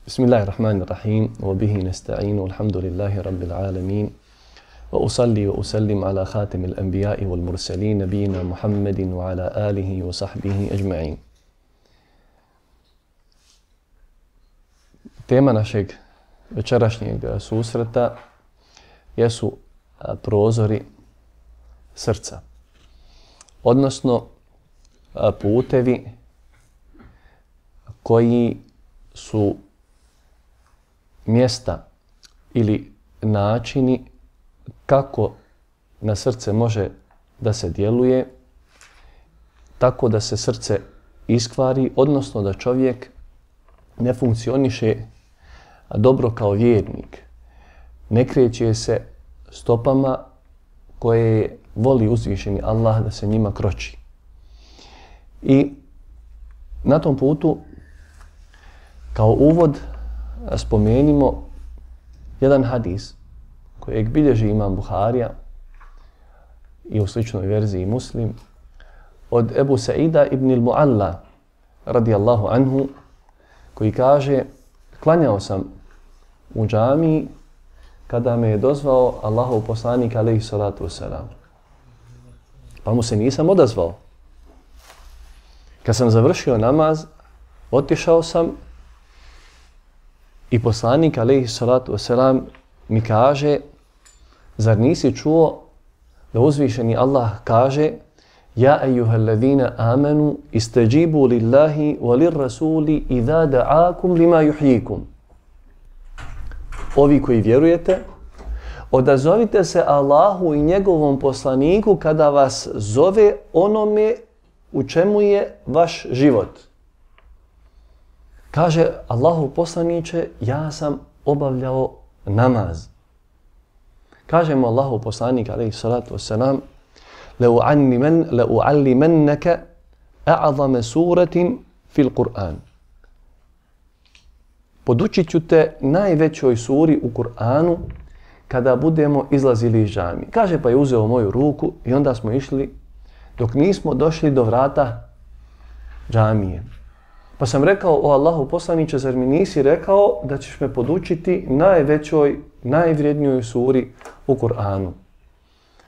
Bismillahirrahmanirrahim, wa bihi nasta'inu, alhamdulillahi rabbil alamin, wa usalli wa usallim ala khatimil anbiya'i wal mursalin, nabiyina Muhammedin wa ala alihi wa sahbihi ajma'in. Tema našeg večerašnjeg susreta jesu prozori srca, odnosno putevi koji su mjesta ili načini kako na srce može da se djeluje tako da se srce iskvari, odnosno da čovjek ne funkcioniše dobro kao vjernik. Ne kreće se stopama koje voli uzvišeni Allah da se njima kroči. I na tom putu kao uvod spomenimo jedan hadis kojeg bilježi imam Buharija i u sličnoj verziji Muslim od Ebu Saida ibn al-Mu'alla radijallahu anhu, koji kaže: klanjao sam u džamiji kada me je dozvao Allahov poslanik alejhi salatu vesselam, pa mu se nisam odazvao. Kad sam završio namaz, otišao sam i poslanik alejhi salatu vesselam mi kaže: zar nisi čuo da uzvišeni Allah kaže: ja ejuhallazina amanu istajibu lillahi wa lirrasuli idha da'akum lima yuhyikum. Ovi koji vjerujete, odazovite se Allahu i njegovom poslaniku kada vas zove onome u čemu je vaš život. Kaže Allahu poslaniče, ja sam obavljao namaz. Kaže mu Allahu poslanik alejhi salatu vesselam: لَأُعَلِّمَنَّكَ أَعْظَمَ سُورَةٍ فِي الْقُرْآنِ. Podučit ću te najvećoj suri u Kur'anu kada budemo izlazili iz džamije. Kaže, pa je uzeo moju ruku i onda smo išli dok nismo došli do vrata džamije. Pa sam rekao: o Allahu poslaniče, zar mi nisi rekao da ćeš me podučiti najvećoj, najvrijednijoj suri u Kur'anu?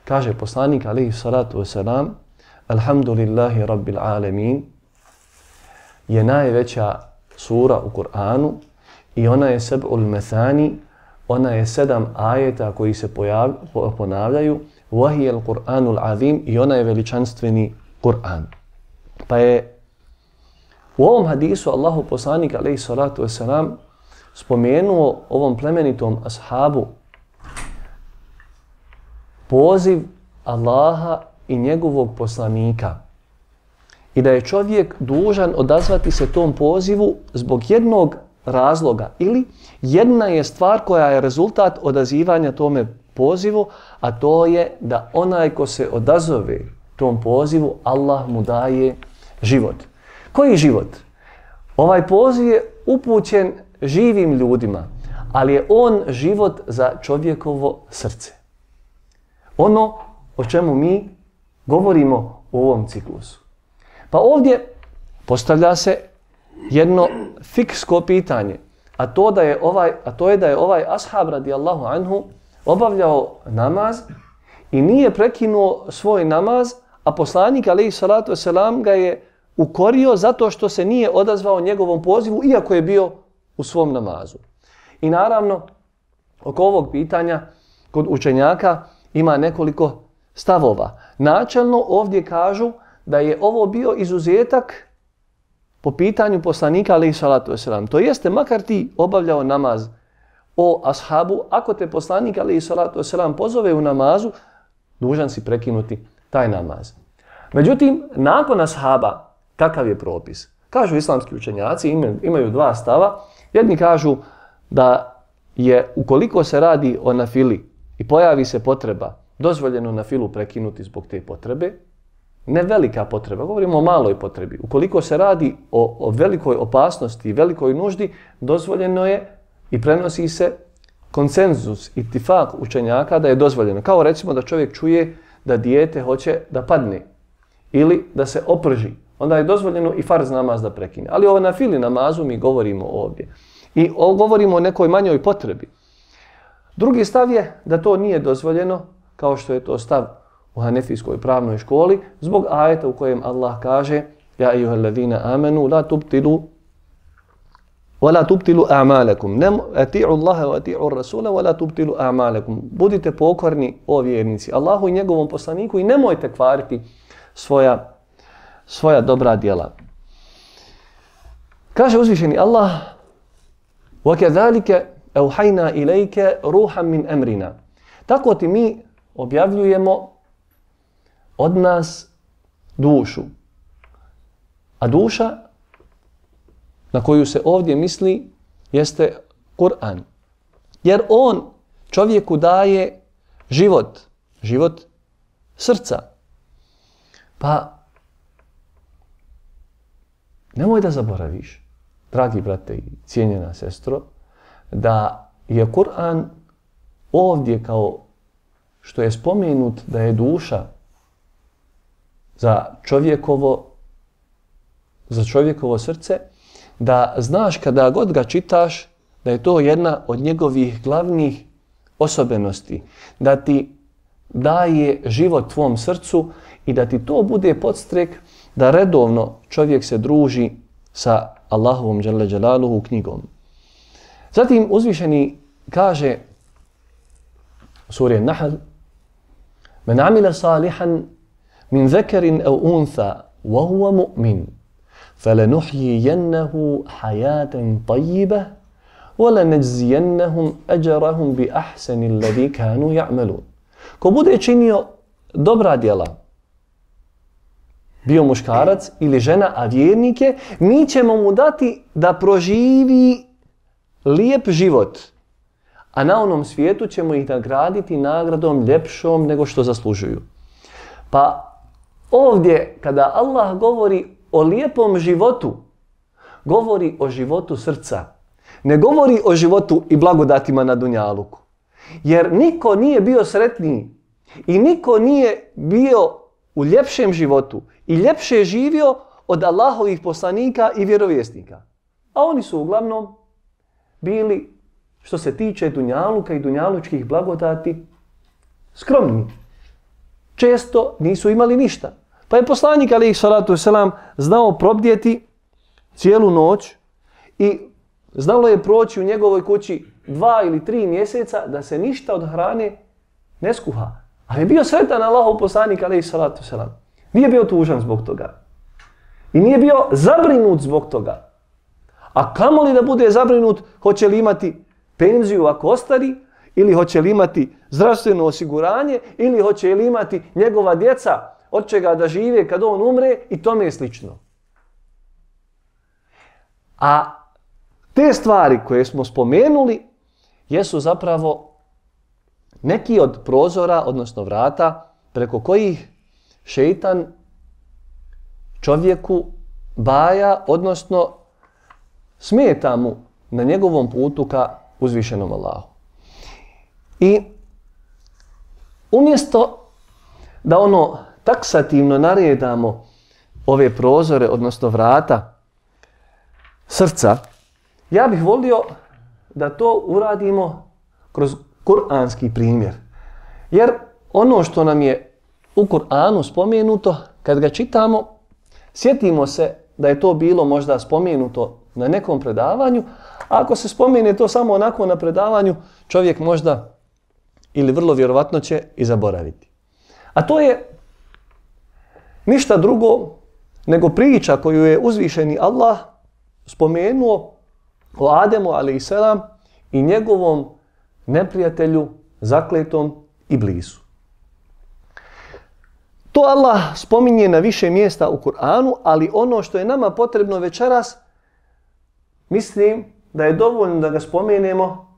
Kaže poslanik alejhi salatu vesselam: alhamdulillahi rabbil alamin je najveća sura u Kur'anu i ona je seb'ul methani, ona je 7 ajeta koji se ponavljaju, wahiyal Kur'anul azim, i ona je veličanstveni Kur'an. Pa je u ovom hadisu Allahu poslanik alejhi salatu vesselam spomenuo ovom plemenitom ashabu poziv Allaha i njegovog poslanika i da je čovjek dužan odazvati se tom pozivu zbog jednog razloga, ili jedna je stvar koja je rezultat odazivanja tome pozivu, a to je da onaj ko se odazove tom pozivu, Allah mu daje život. Koji život? Ovaj poziv je upućen živim ljudima, ali je on život za čovjekovo srce. Ono o čemu mi govorimo u ovom ciklusu. Pa ovdje postavlja se jedno fiksko pitanje, a to je da je ovaj ashab radijallahu anhu obavljao namaz i nije prekinuo svoj namaz, a poslanik alejhi salatu vesselam ga je ukorio zato što se nije odazvao njegovom pozivu iako je bio u svom namazu. I naravno, oko ovog pitanja kod učenjaka ima nekoliko stavova. Načelno ovdje kažu da je ovo bio izuzetak po pitanju poslanika alejhi salatu vesselam. To jeste, makar ti obavljao namaz, o ashabu, ako te poslanik alejhi salatu vesselam pozove u namazu, dužan si prekinuti taj namaz. Međutim, nakon ashaba, kakav je propis? Kažu islamski učenjaci, imaju 2 stava. Jedni kažu da je, ukoliko se radi o nafili i pojavi se potreba, dozvoljeno nafilu prekinuti zbog te potrebe. Ne velika potreba, govorimo o maloj potrebi. Ukoliko se radi o velikoj opasnosti i velikoj nuždi, dozvoljeno je i prenosi se konsenzus, itifak učenjaka da je dozvoljeno. Kao recimo da čovjek čuje da dijete hoće da padne ili da se oprži. Onda je dozvoljeno i farz namaz da prekine. Ali ovo nafili namazu mi govorimo ovdje. I govorimo o nekoj manjoj potrebi. Drugi stav je da to nije dozvoljeno, kao što je to stav u hanefijskoj pravnoj školi, zbog ajeta u kojem Allah kaže: Ja ejuhallazina amanu la tubtilu وَلَا تُبْتِلُوا أَعْمَالَكُمْ أَتِعُوا اللَّهَ وَأَتِعُوا الرَّسُولَ وَلَا تُبْتِلُوا أَعْمَالَكُمْ Budite pokorni, o vjernici, Allahu i njegovom poslaniku i nemojte kvariti svoja dobra djela. Kaže uzvišeni Allah: وَكَذَلِكَ أَوْحَيْنَا إِلَيْكَ رُوحًا مِنْ أَمْرِنَا Tako ti mi objavljujemo od nas dušu. A duša na koju se ovdje misli jeste Kur'an. Jer on čovjeku daje život srca. Pa nemoj da zaboraviš, dragi brate i cijenjena sestro, da je Kur'an ovdje kao što je spomenut da je duša za čovjekovo srce, da znaš kada god ga čitaš da je to jedna od njegovih glavnih osobenosti, da ti daje život tvom srcu i da ti to bude podstrek da redovno čovjek se druži sa Allahovom dželle dželaluhu knjigom. Zatim uzvišeni kaže u suri Nahl: Men amila salihan min zakarin aw untha wa huwa mu'min فَلَنُحْيِيَنَّهُ حَيَاةً طَيِّبَةً وَلَنَجْزِيَنَّهُمْ أَجْرَهُمْ بِأَحْسَنِ الَّذِي كَانُوا يَعْمَلُونَ Ko bude činio dobra djela, bio muškarac ili žena, a vjernik je, mi ćemo mu dati da proživi lijep život, a na onom svijetu ćemo ih nagraditi nagradom ljepšom nego što zaslužuju. Pa ovdje kada Allah govori o lijepom životu, govori o životu srca. Ne govori o životu i blagodatima na dunjaluku. Jer niko nije bio sretniji i niko nije bio u ljepšem životu i ljepše živio od Allahovih poslanika i vjerovjesnika. A oni su uglavnom bili, što se tiče dunjaluka i dunjalučkih blagodati, skromni. Često nisu imali ništa. Pa je poslanik alejhi salatu vesselam znao probdjeti cijelu noć i znalo je proći u njegovoj kući 2 ili 3 mjeseca da se ništa od hrane ne skuha. Ali je bio sretan Allahov poslanik alejhi salatu vesselam. Nije bio tužan zbog toga. I nije bio zabrinut zbog toga. A kamoli da bude zabrinut hoće li imati penziju ako ostari, ili hoće li imati zdravstveno osiguranje, ili hoće li imati njegova djeca od čega da žive kad on umre i tome je slično. A te stvari koje smo spomenuli jesu zapravo neki od prozora, odnosno vrata, preko kojih šeitan čovjeku baja, odnosno smeta mu na njegovom putu ka uzvišenom Allahu. I umjesto da taksativno naredamo ove prozore, odnosno vrata srca, ja bih volio da to uradimo kroz kuranski primjer. Jer ono što nam je u Kur'anu spomenuto, kad ga čitamo, sjetimo se da je to bilo možda spomenuto na nekom predavanju, a ako se spomene to samo onako na predavanju, čovjek možda ili vrlo vjerovatno će i zaboraviti. A to je ništa drugo nego priča koju je uzvišeni Allah spomenuo o Ademu a.s. i njegovom neprijatelju zakletom Iblisu. To Allah spominje na više mjesta u Kur'anu, ali ono što je nama potrebno večeras, mislim da je dovoljno da ga spomenemo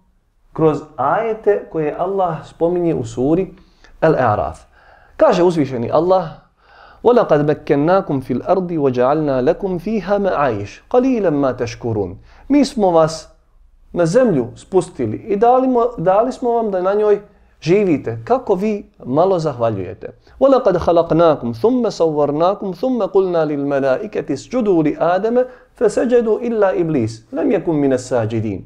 kroz ajete koje Allah spominje u suri Al-A'raf. Kaže uzvišeni Allah: وَلَقَدْ مَكَّنَّاكُمْ فِي الْأَرْضِ وَجَعَلْنَا لَكُمْ فِيهَا مَعَيِشْ قَلِيلًا مَا تَشْكُرُونَ Mi smo vas na zemlju spustili i dali smo vam da na njoj živite, kako vi malo zahvaljujete. وَلَقَدْ خَلَقْنَاكُمْ ثُمَّ صَوَّرْنَاكُمْ ثُمَّ قُلْنَا لِلْمَلَائِكَةِ اسْجُدُوا لِآدَمَ فَسَجَدُوا إِلَّا إِبْلِيسَ لَمْ يَكُنْ مِنَ السَّاجِدِينَ.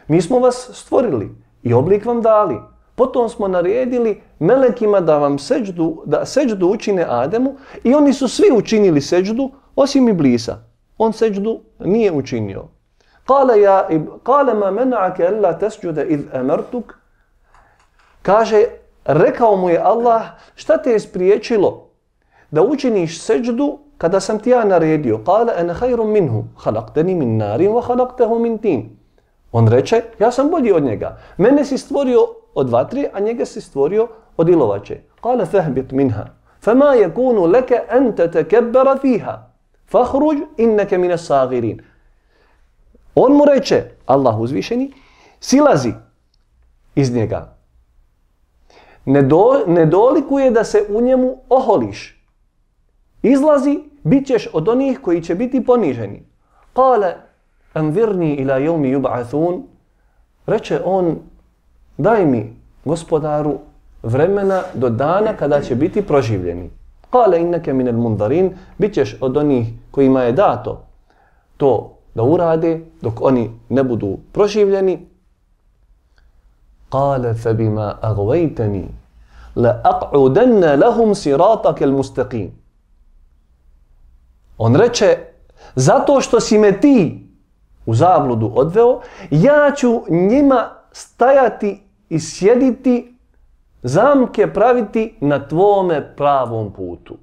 Mi smo vas stvorili i oblik vam dali. Potom smo naredili melekima da seđdu učine Ademu i oni su svi učinili seđdu osim Iblisa. On seđdu nije učinio. قَالَ مَا مَنَعَكَ أَلَّا تَسْجُدَ إِذْ أَمَرْتُكَ. Kaže, rekao mu je Allah, šta te je spriječilo da učiniš seđdu kada sam ti ja naredio? قَالَ أَنَا خَيْرٌ مِنْهُ خَلَقْتَنِي مِنْ نَارٍ وَخَلَقْتَهُ مِنْ تِينٍ. On reče, ja sam bolji od njega. Mene si stvorio od vatre, a njega si stvorio od ilovače. قَالَ فَهْبِتْ مِنْهَا فَمَا يَكُونُ لَكَ أَنْ تَتَكَبَّرَ فِيهَا فَخْرُجْ إِنَّكَ مِنَ الصَّاغِرِينَ. On mu reče, Allah uzvišeni, silazi iz njega. Ne dolikuje da se u njemu oholiš. Izlazi, bit ćeš od onih koji će biti poniženi. قَالَ أَنْذِرْنِي إِلَى يَوْمِ يُبْعَثُونَ. Reče on, daj mi, gospodaru, vremena do dana kada će biti proživljeni. قَالَ إِنَّكَ مِنَ الْمُنْذَرِينَ. Bit ćeš od onih kojima je dato to da urade dok oni ne budu proživljeni. قَالَ فَبِمَا أَغْوَيْتَنِي لَأَقْعُدَنَّ لَهُمْ صِرَاطَكَ الْمُسْتَقِيمِ. On reče, zato što si me ti u zabludu odveo, ja ću njima stajati i sjediti, zamke praviti na tvome pravom putu.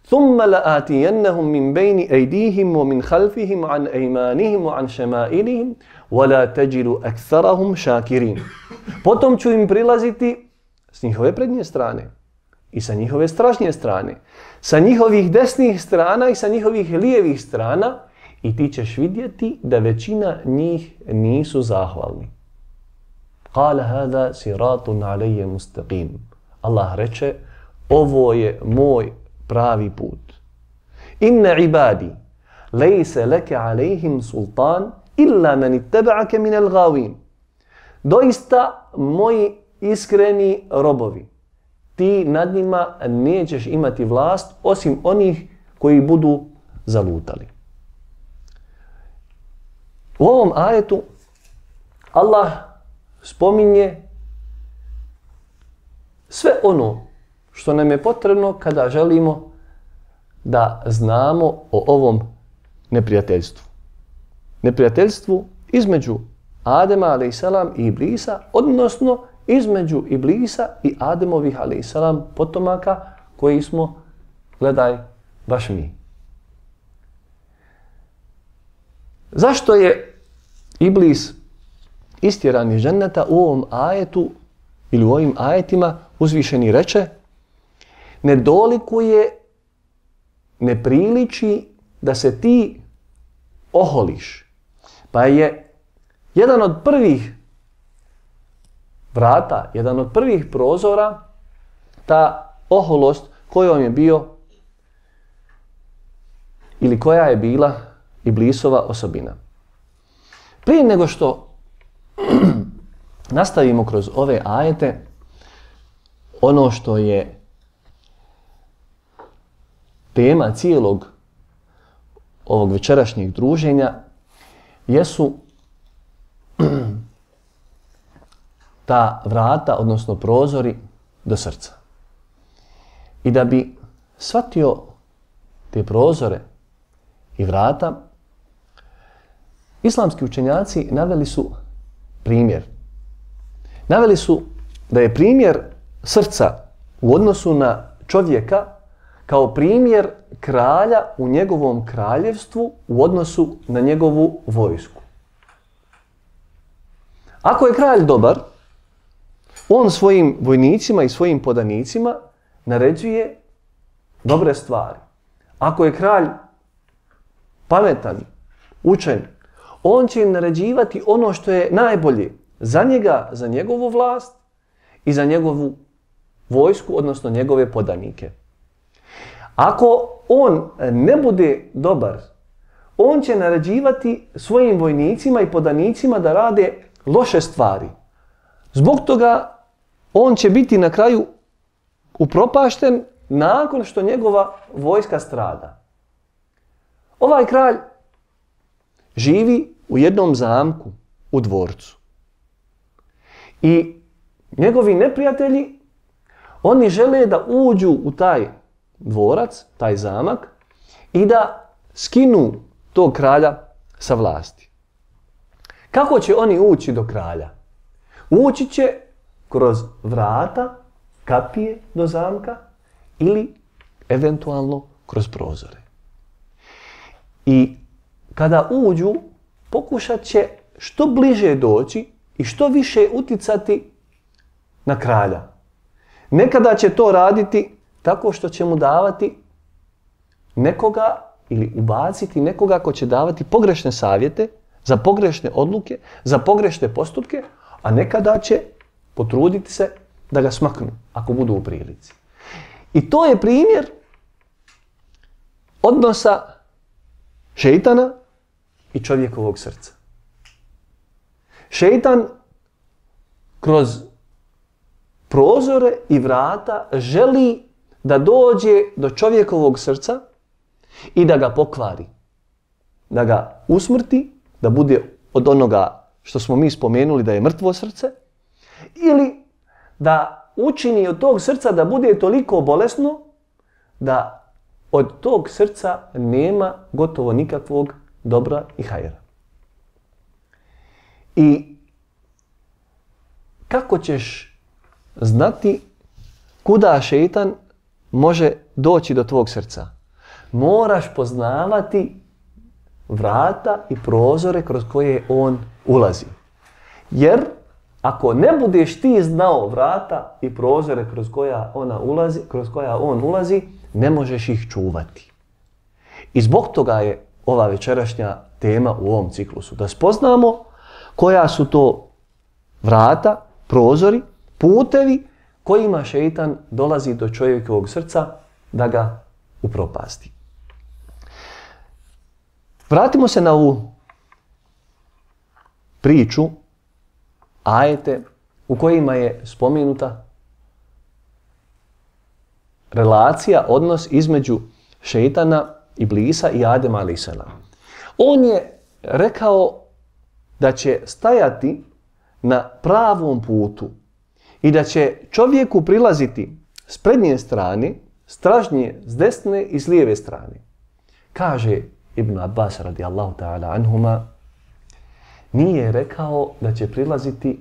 ثُمَّ لَآتِيَنَّهُمْ مِنْ بَيْنِ أَيْدِيهِمْ وَمِنْ خَلْفِهِمْ عَنْ أَيْمَانِهِمْ وَعَنْ شَمَائِلِهِمْ وَلَا تَجِدُ أَكْثَرَهُمْ شَاكِرِينَ. Potom ću im prilaziti s njihove prednje strane i sa njihove stražnje strane, sa njihovih desnih strana i sa njihovih lijevih strana, i ti ćeš vidjeti da većina njih nisu zahvalni. قَالَ هَذَا صِرَاطٌ عَلَيَّ مُسْتَقِيمٌ. Allah reče, ovo je moj pravi put. Inna ibadi lejse leke alejhim sultan illa men ittaba'ake minel gavin. Doista, moji iskreni robovi, ti nad njima nećeš imati vlast osim onih koji budu zalutali. U ovom ajetu Allah spominje sve ono što nam je potrebno kada želimo da znamo o ovom neprijateljstvu. Neprijateljstvu između Adema a.s. i Iblisa, odnosno između Iblisa i Ademovih a.s. potomaka koji smo, gledaj, baš mi. Zašto je Iblis istjeran iz dženneta? U ovom ajetu ili u ovim ajetima uzvišeni reče, ne dolikuje, ne priliči da se ti oholiš. Pa je jedan od prvih vrata, jedan od prvih prozora ta oholost kojom je bio ili koja je bila Iblisova osobina. Prije nego što nastavimo kroz ove ajete, ono što je tema cijelog ovog večerašnjeg druženja jesu ta vrata, odnosno prozori do srca. I da bi shvatio te prozore i vrata, islamski učenjaci naveli su primjer. Naveli su da je primjer srca u odnosu na čovjeka kao primjer kralja u njegovom kraljevstvu u odnosu na njegovu vojsku. Ako je kralj dobar, on svojim vojnicima i svojim podanicima naređuje dobre stvari. Ako je kralj pametan, učen, on će im naređivati ono što je najbolje za njega, za njegovu vlast i za njegovu vojsku, odnosno njegove podanike. Ako on ne bude dobar, on će naređivati svojim vojnicima i podanicima da rade loše stvari. Zbog toga on će biti na kraju upropašten nakon što njegova vojska strada. Ovaj kralj živi u jednom zamku u dvorcu. I njegovi neprijatelji, oni žele da uđu u taj dvorac, taj zamak, i da skinu tog kralja sa vlasti. Kako će oni ući do kralja? Ući će kroz vrata, kapije do zamka ili eventualno kroz prozore. I kada uđu, pokušat će što bliže doći i što više uticati na kralja. Nekada će to raditi tako što će mu davati nekoga ili ubaciti nekoga ko će davati pogrešne savjete za pogrešne odluke, za pogrešne postupke, a nekada će potruditi se da ga smaknu ako budu u prilici. I to je primjer odnosa šejtana i čovjekovog srca. Šejtan kroz prozore i vrata želi da dođe do čovjekovog srca i da ga pokvari, da ga usmrti, da bude od onoga što smo mi spomenuli da je mrtvo srce, ili da učini od tog srca da bude toliko bolesno da od tog srca nema gotovo nikakvog dobra i hajra. I kako ćeš znati kuda šejtan može doći do tvog srca? Moraš poznavati vrata i prozore kroz koje on ulazi. Jer ako ne budeš ti znao vrata i prozore kroz koja on ulazi, ne možeš ih čuvati. I zbog toga je ova večerašnja tema u ovom ciklusu. Da spoznamo koja su to vrata, prozori, putevi kojima šejtan dolazi do čovjekovog srca da ga upropasti. Vratimo se na ovu priču, ajete u kojima je spomenuta relacija, odnos između šejtana, Iblisa i Adema alejselam. On je rekao da će stajati na pravom putu i da će čovjeku prilaziti s prednje strane, stražnje s desne i s lijeve strane. Kaže Ibn Abbas radijallahu ta'ala anhuma, nije rekao da će prilaziti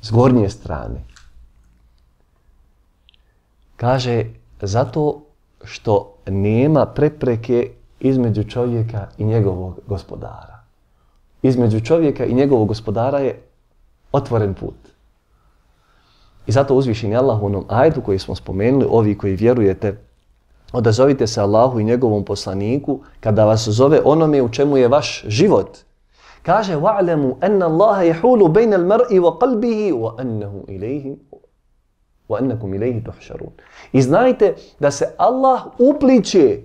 s gornje strane. Kaže, zato što nema prepreke između čovjeka i njegovog gospodara. Između čovjeka i njegovog gospodara je otvoren put. I zato uzvišeni Allah u onom ajetu koji smo spomenuli, ovi koji vjerujete, odazovite se Allahu i njegovom poslaniku kada vas zove onome u čemu je vaš život. Kaže, wa'lamu anna Allaha yahulu bayna al-mar'i wa qalbihi wa annakum ilayhi tuhsharun. I znajte da se Allah upliće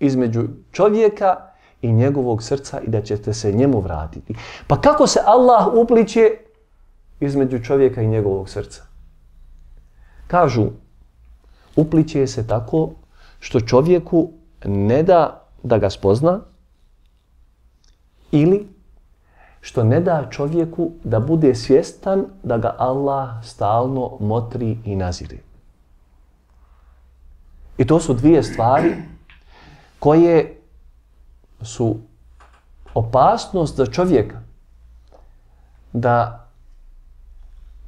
između čovjeka i njegovog srca i da ćete se njemu vratiti. Pa kako se Allah upliće između čovjeka i njegovog srca? Kažu, upliće se tako što čovjeku ne da da ga spozna ili što ne da čovjeku da bude svjestan da ga Allah stalno motri i nazire. I to su dvije stvari koje su opasnost za čovjeka da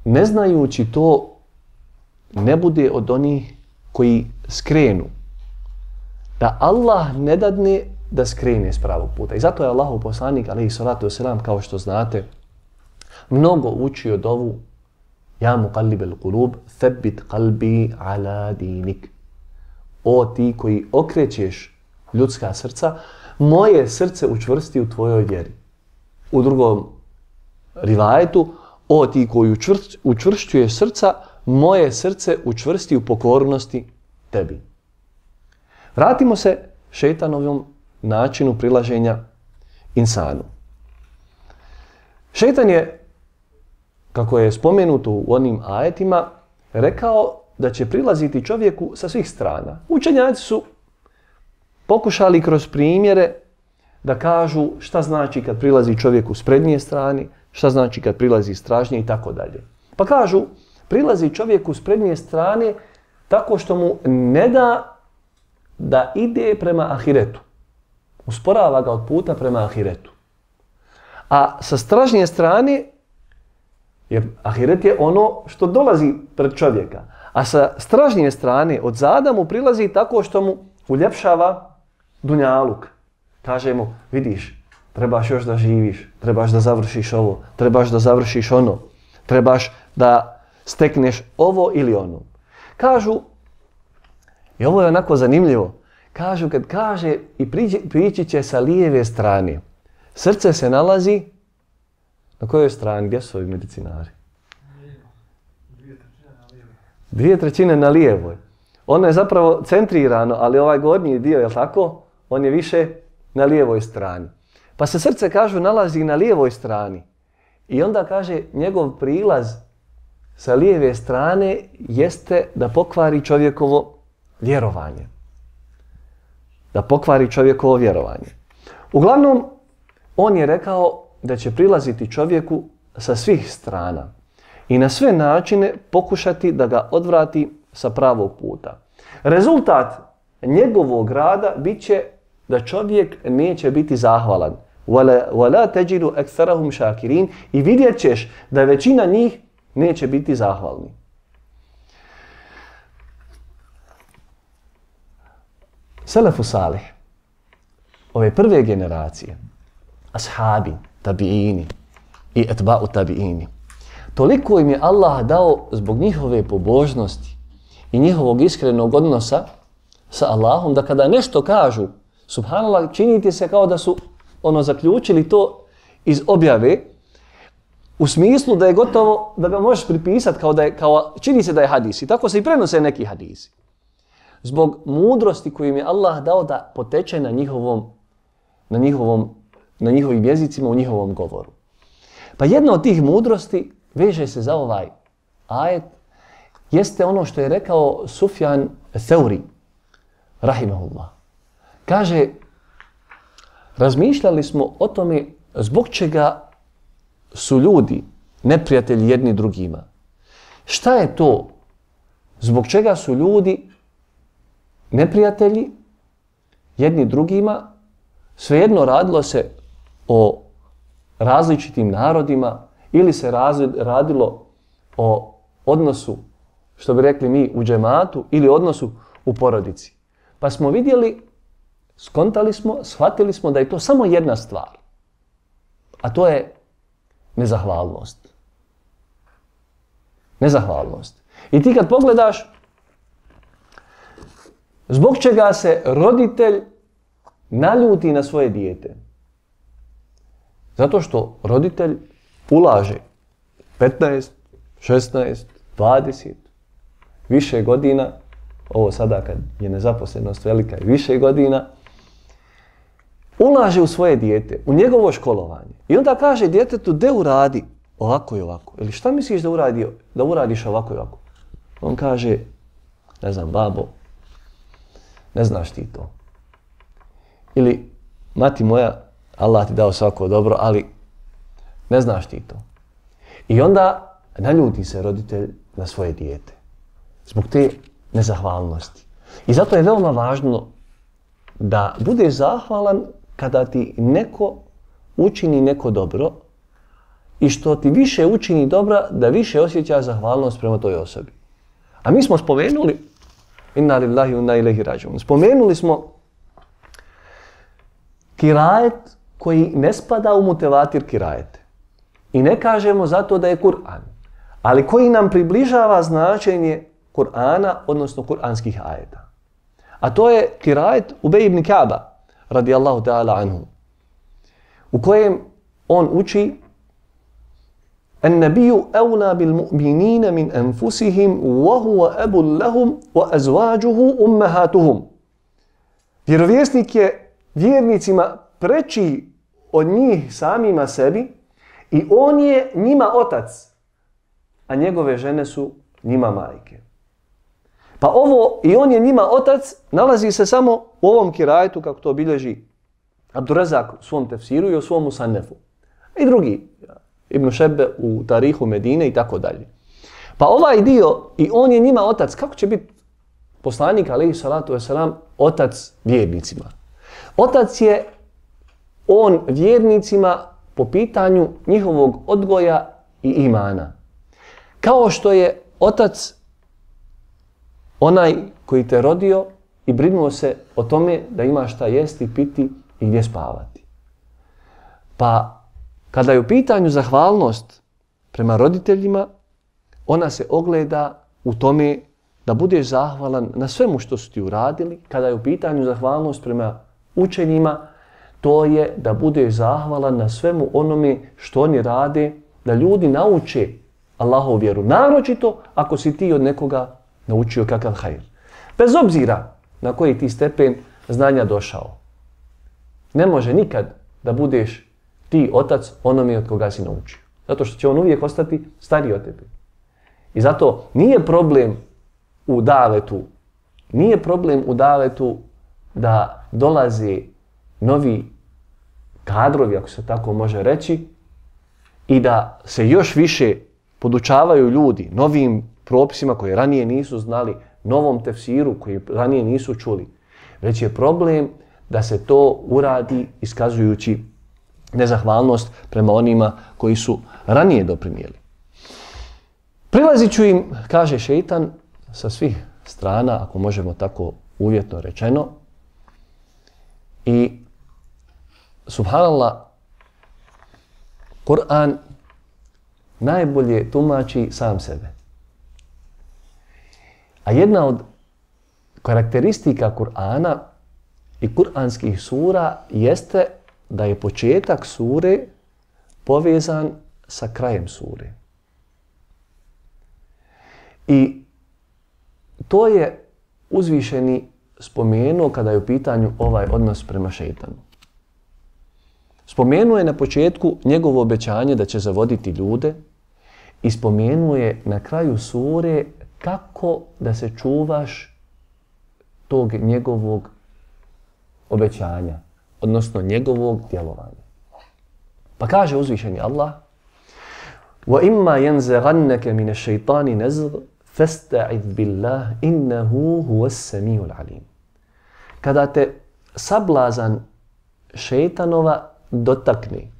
ne znajući to ne bude od onih koji skrenu. Da Allah ne dadne da skrene s pravog puta. I zato je Allahov poslanik, alejhi salatu vesselam, kao što znate, mnogo učio dovu Ja muqallibel qulub, thabbit qalbi ala dinik. O ti koji okrećeš ljudska srca, moje srce učvrsti u tvojoj vjeri. U drugom rivajetu, o ti koji učvršćuješ srca, moje srce učvrsti u pokornosti tebi. Vratimo se šejtanovom načinu prilaženja insanu. Šejtan je kako je spomenuto u onim ajetima, rekao da će prilaziti čovjeku sa svih strana. Učenjaci su pokušali kroz primjere da kažu šta znači kad prilazi čovjeku s prednje strane, šta znači kad prilazi s tražnje i tako dalje. Pa kažu, prilazi čovjeku s prednje strane tako što mu ne da ide prema ahiretu. Usporava ga od puta prema ahiretu. A sa stražnje strane, jer ahiret je ono što dolazi pred čovjeka, a sa stražnje strane od zada mu prilazi tako što mu uljepšava dunjaluk. Kaže mu, vidiš, trebaš još da živiš, trebaš da završiš ovo, trebaš da završiš ono, trebaš da stekneš ovo ili ono. Kažu, i ovo je onako zanimljivo, kažu kad kaže i prići će sa lijeve strane. Srce se nalazi na kojoj strani? Gdje su ovi medicinari? 2/3 na lijevoj. Ono je zapravo centrirano, ali ovaj gornji dio, je li tako? On je više na lijevoj strani. Pa se srce, kažu, nalazi na lijevoj strani. I onda kaže, njegov prilaz sa lijeve strane jeste da pokvari čovjekovo vjerovanje. Da pokvari čovjekovo vjerovanje. Uglavnom, on je rekao da će prilaziti čovjeku sa svih strana i na sve načine pokušati da ga odvrati sa pravog puta. Rezultat njegovog rada bit će da čovjek neće biti zahvalan. وَلَا تَجِدُ أَكْثَرَهُمْ شَاكِرِينَ I vidjet ćeš da većina njih neće biti zahvalni. Selefu salih, ove prve generacije, ashabi, tabiini i etba'u tabiini, toliko im je Allah dao zbog njihove pobožnosti i njihovog iskrenog odnosa sa Allahom, da kada nešto kažu, subhanallah, činite se kao da su zaključili to iz objave, u smislu da je gotovo da ga možeš pripisati kao čini se da je hadis. I tako se i prenose neki hadisi. Zbog mudrosti koju im je Allah dao da poteče na njihovim jezicima, u njihovom govoru. Pa jedna od tih mudrosti veže se za ovaj ajet, jeste ono što je rekao Sufjan Theuri, rahimahullah. Kaže, razmišljali smo o tome zbog čega su ljudi neprijatelji jedni drugima. Šta je to? Zbog čega su ljudi neprijatelji jedni drugima? Svejedno radilo se o različitim narodima ili se radilo o odnosu, što bi rekli mi, u džematu ili odnosu u porodici. Pa smo vidjeli, skontali smo, shvatili smo da je to samo jedna stvar. A to je nezahvalnost. Nezahvalnost. I ti kad pogledaš, zbog čega se roditelj naljuti na svoje dijete? Zato što roditelj ulaže 15, 16, 20, više godina, ovo sada kad je nezaposlenost velika i više godina, ulaže u svoje dijete, u njegovo školovanje. I onda kaže djetetu, de uradi ovako i ovako. Ili šta misliš da uradiš ovako i ovako? On kaže, ne znam, babo, ne znaš ti to. Ili, mati moja, Allah ti dao svako dobro, ali ne znaš ti to. I onda naljuti se roditelj na svoje dijete. Zbog te nezahvalnosti. I zato je veoma važno da budeš zahvalan kada ti neko učini neko dobro i što ti više učini dobra, da više osjećaš zahvalnost prema toj osobi. A mi smo spomenuli, inna lillahi wa inna ilaihi rađiun, spomenuli smo kirajet koji ne spada u mutevatir kirajete. I ne kažemo zato da je Kur'an, ali koji nam približava značenje Kur'ana, odnosno kur'anskih ajeta. A to je kirajet Ubej ibn Ka'ba, radijallahu ta'ala anhu, u kojem on uči النبي أولى بالمؤمنين من أنفسهم وهو أب لهم وأزواجه أمهاتهم. Vjerovjesnik je vjernicima preči od njih samima sebi i on je njima otac, a njegove žene su njima majke. Pa ovo, i on je njima otac, nalazi se samo u ovom kirajetu, kako to bilježi Abdurazak u svom tefsiru i u svom Musannefu. I drugi, Ibn Šebe u Tarihu Medine i tako dalje. Pa ovaj dio, i on je njima otac, kako će biti poslanik, alejhi salatu vesselam, otac vjernicima? Otac je on vjernicima po pitanju njihovog odgoja i imana. Kao što je otac onaj koji te rodio i brinuo se o tome da imaš šta jesti, piti i gdje spavati. Pa kada je u pitanju zahvalnost prema roditeljima, ona se ogleda u tome da budeš zahvalan na svemu što su ti uradili. Kada je u pitanju zahvalnost prema učenjima, to je da budeš zahvalan na svemu onome što oni rade, da ljudi nauče Allahovu vjeru. Naročito ako si ti od nekoga naučio kakav hajr. Bez obzira na koji ti stepen znanja došao. Ne može nikad da budeš ti otac onome od koga si naučio. Zato što će on uvijek ostati stariji od tebe. I zato nije problem u davetu da dolaze novi kadrovi, ako se tako može reći, i da se još više podučavaju ljudi novim propisima koje ranije nisu znali, novom tefsiru koji ranije nisu čuli. Već je problem da se to uradi iskazujući nezahvalnost prema onima koji su ranije doprinijeli. Prilazit ću im, kaže šeitan, sa svih strana, ako možemo tako uvjetno rečeno. I subhanallah, Kur'an najbolje tumači sam sebe. A jedna od karakteristika Kur'ana i kur'anskih sura jeste da je početak sure povezan sa krajem sure. I to je uzvišeni spomenuo kada je u pitanju ovaj odnos prema šejtanu. Spomenuo je na početku njegovo obećanje da će zavoditi ljude i spomenuo je na kraju sure kako da se čuvaš tog njegovog obećanja, odnosno njegovog djelovanja. Pa kaže uzvišeni Allah: وَإِمَّا يَنْزَغَنَّكَ مِنَ الشَّيْطَانِ نَزْغ فَاسْتَعِذْ بِاللَّهِ إِنَّهُ هُوَ السَّمِيعُ الْعَلِيمُ. Kada te sablazan šejtanova dotakne,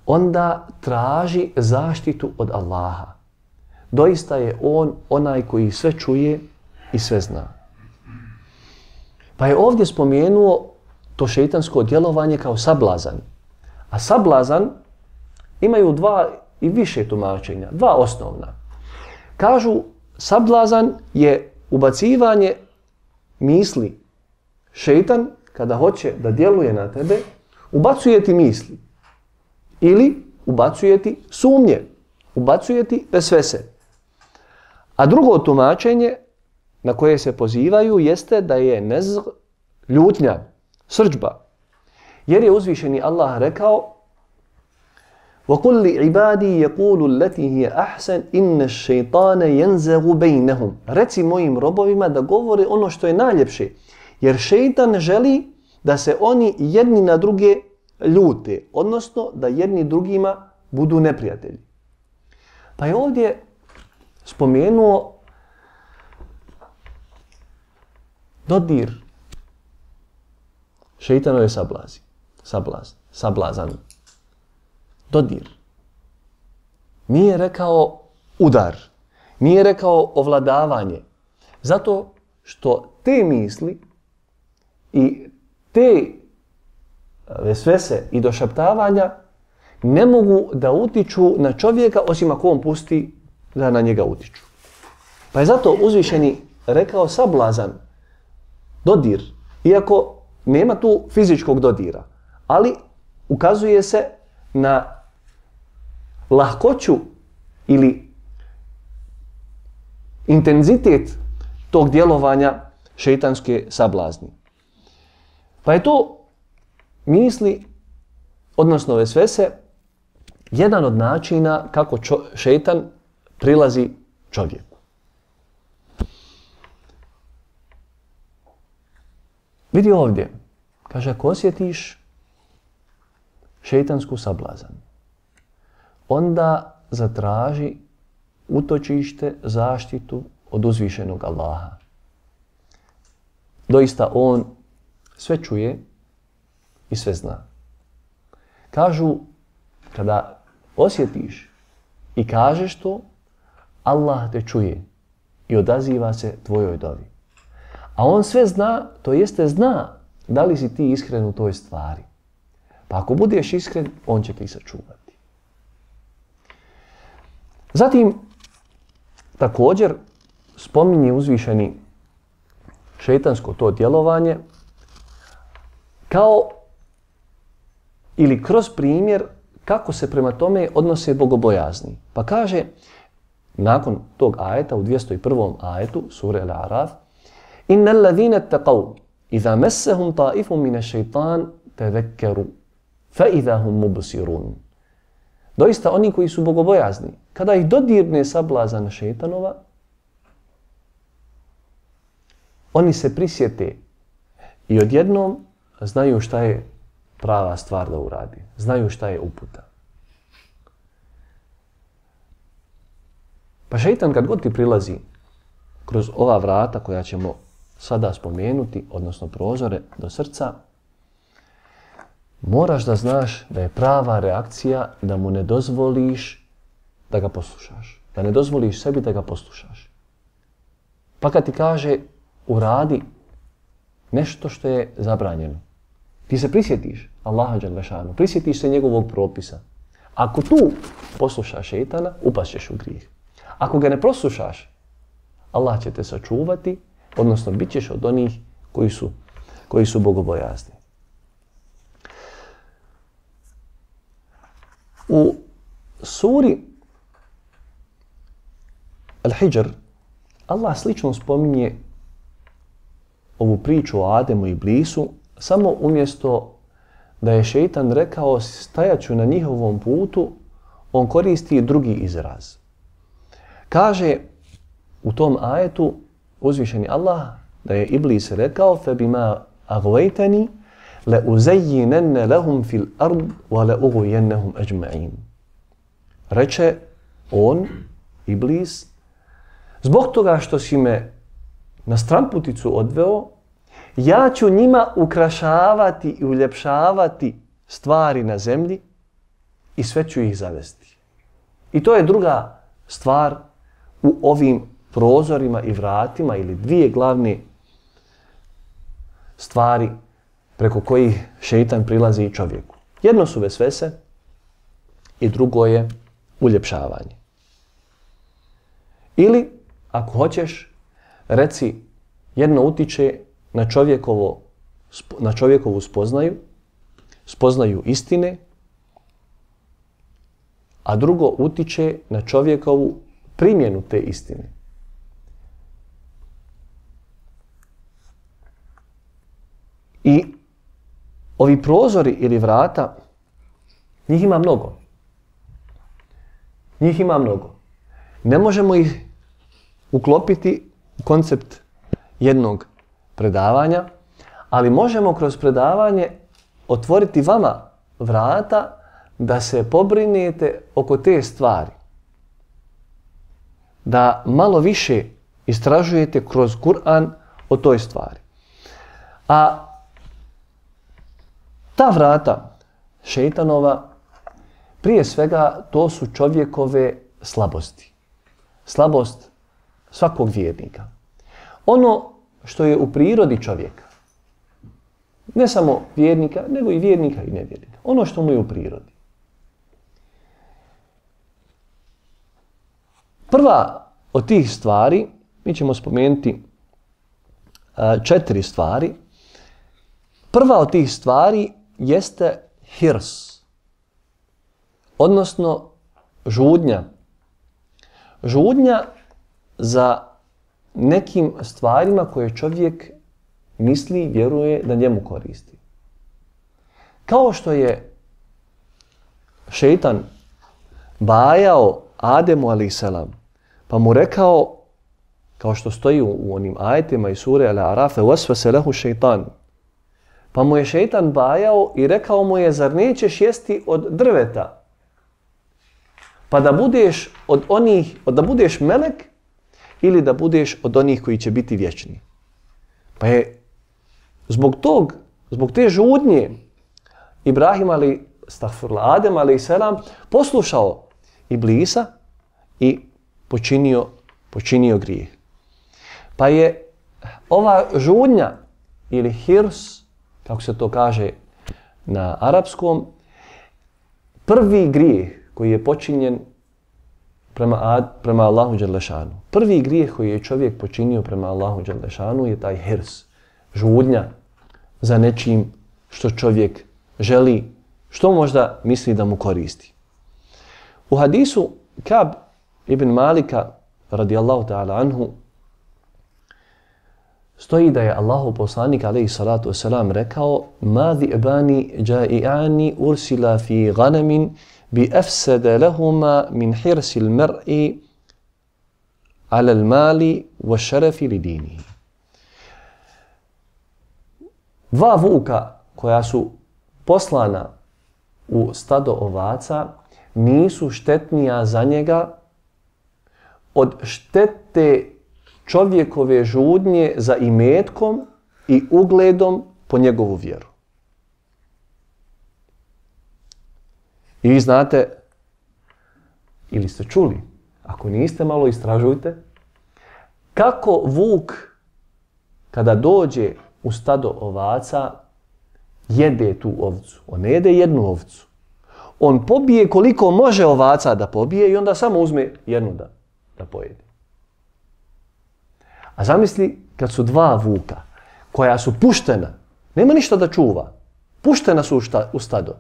onda traži zaštitu od Allaha. Doista je on onaj koji sve čuje i sve zna. Pa je ovdje spomenuo to šejtansko djelovanje kao sablazan. A sablazan imaju dva i više tumačenja, dva osnovna. Kažu, sablazan je ubacivanje misli. Šejtan, kada hoće da djeluje na tebe, ubacuje ti misli. Ili ubacuje ti sumnje, ubacuje ti vesvese. A drugo tumačenje na koje se pozivaju jeste da je nezg, ljutnja, srdžba. Jer je uzvišeni Allah rekao: وَقُلْ لِعِبَادِي يَقُولُ الَّتِي هِيَ أَحْسَنْ إِنَّ الشَّيْطَانَ يَنْزَغُ بَيْنَهُمْ. Reci mojim robovima da govore ono što je najljepše, jer šejtan želi da se oni jedni na druge ljute, odnosno da jedni drugima budu neprijatelji. Pa je ovdje spomenuo dodir šejtanove sablazan. Dodir. Nije rekao udar, nije rekao ovladavanje, zato što te misli i te vesvese i došaptavanja ne mogu da utiču na čovjeka osim ako on pusti da na njega utiču. Pa je zato uzvišeni rekao sablazan, dodir, iako nema tu fizičkog dodira, ali ukazuje se na lahkoću ili intenzitet tog djelovanja šejtanske sablazni. Pa je to misli, odnosno vesvese, jedan od načina kako šejtan prilazi čovjeku. Vidi ovdje, kaže, ako osjetiš šejtansku sablazan, onda zatraži utočište, zaštitu od uzvišenog Allaha. Doista on sve čuje i sve zna. Kažu, kada osjetiš i kažeš to, Allah te čuje i odaziva se tvojoj dovi. A on sve zna, to jeste zna da li si ti iskren u toj stvari. Pa ako budeš iskren, on će ti sačuvati. Zatim, također, spominje uzvišeni šejtansko to djelovanje kao ili kroz primjer kako se prema tome odnose bogobojazni. Pa kaže, nakon tog ajeta, u 201. ajetu, sure Al-A'raf, Inna alladhina attaqaw idha massahum ta'ifun min ash-shaytan tadhakkaru fa idha hum mubsirun. Doista oni koji su bogobojazni, kada ih dodirne sablazan šejtanova, oni se prisjete i odjednom znaju šta je prava stvar da uradi. Znaju šta je uputa. Pa šejtan kad god ti prilazi kroz ova vrata koja ćemo sada spomenuti, odnosno prozore do srca, moraš da znaš da je prava reakcija da mu ne dozvoliš da ga poslušaš. Da ne dozvoliš sebi da ga poslušaš. Pa kad ti kaže uradi nešto što je zabranjeno, ti se prisjetiš Allaha dželle šanu, prisjetiš se njegovog propisa. Ako tu poslušaš šejtana, upašćeš u grijeh. Ako ga ne poslušaš, Allah će te sačuvati, odnosno bit ćeš od onih koji su bogobojazni. U suri Al-Hijr Allah slično spominje ovu priču o Ademu i Iblisu, samo umjesto da je šejtan rekao stajaću na njihovom putu, on koristi drugi izraz. Kaže u tom ajetu uzvišeni Allah da je Iblis rekao فَبِمَا أَغْوَيْتَنِي لَأُزَيِّنَنَّ لَهُمْ فِي الْأَرْضِ وَلَأُغْوِيَنَّهُمْ أَجْمَعِينَ. Reče on, Iblis, zbog toga što si me na stramputicu odveo, ja ću njima ukrašavati i uljepšavati stvari na zemlji i sve ću ih zavesti. I to je druga stvar u ovim prozorima i vratima ili dvije glavne stvari preko kojih šejtan prilazi čovjeku. Jedno su vesvese i drugo je uljepšavanje. Ili, ako hoćeš, reci jedno utiče na čovjekovu spoznaju istine, a drugo utiče na čovjekovu primjenu te istine. I ovi prozori ili vrata, njih ima mnogo. Njih ima mnogo. Ne možemo ih uklopiti u koncept jednog predavanja, ali možemo kroz predavanje otvoriti vama vrata da se pobrinete oko te stvari. Da malo više istražujete kroz Kur'an o toj stvari. A ta vrata šejtanova, prije svega, to su čovjekove slabosti. Slabost svakog vjernika. Ono što je u prirodi čovjeka, ne samo vjernika, nego i vjernika i nevjernika. Ono što mu je u prirodi. Prva od tih stvari, mi ćemo spomenuti 4 stvari. Prva od tih stvari jeste hirs, odnosno žudnja. Žudnja za nekim stvarima koje čovjek misli i vjeruje da njemu koristi. Kao što je šejtan bajao Ademu a.s. pa mu rekao, kao što stoji u onim ajetima iz sure Al-A'raf, waswasa lahu šeitan. Pa mu je šeitan bajao i rekao mu je, zar nećeš jesti od drveta? Pa da budeš da budeš melek ili da budeš od onih koji će biti vječni. Pa je zbog te žudnje Ibrahim Adem a.s. poslušao Iblisa i počinio grijeh. Pa je ova žudnja ili hirs, kako se to kaže na arapskom, prvi grijeh koji je počinjen prema Allahu Đelešanu. Prvi grijeh koji je čovjek počinio prema Allahu Đelešanu je taj hirs, žudnja za nečim što čovjek želi, što možda misli da mu koristi. U hadisu Kab ibn Malika radijallahu ta'ala anhu stoji da je Allahu poslanik alejhi salatu vesselam rekao: "Ma dhi'bani ja'i'ani ursila fi ghanamin bi afsada lahuma min hirsi al-mar'i 'ala al-mali wash-sharafi li dinihi." Dva vuka koja su poslana u stado ovaca nisu štetnija za njega od štete čovjekove žudnje za imetkom i ugledom po njegovu vjeru. I vi znate, ili ste čuli, ako niste, malo istražujte, kako vuk kada dođe u stado ovaca jede tu ovcu. On ne jede jednu ovcu. On pobije koliko može ovaca da pobije i onda samo uzme jednu da pojede. A zamisli kad su dva vuka koja su puštena, nema ništa da čuva, puštena su u stado.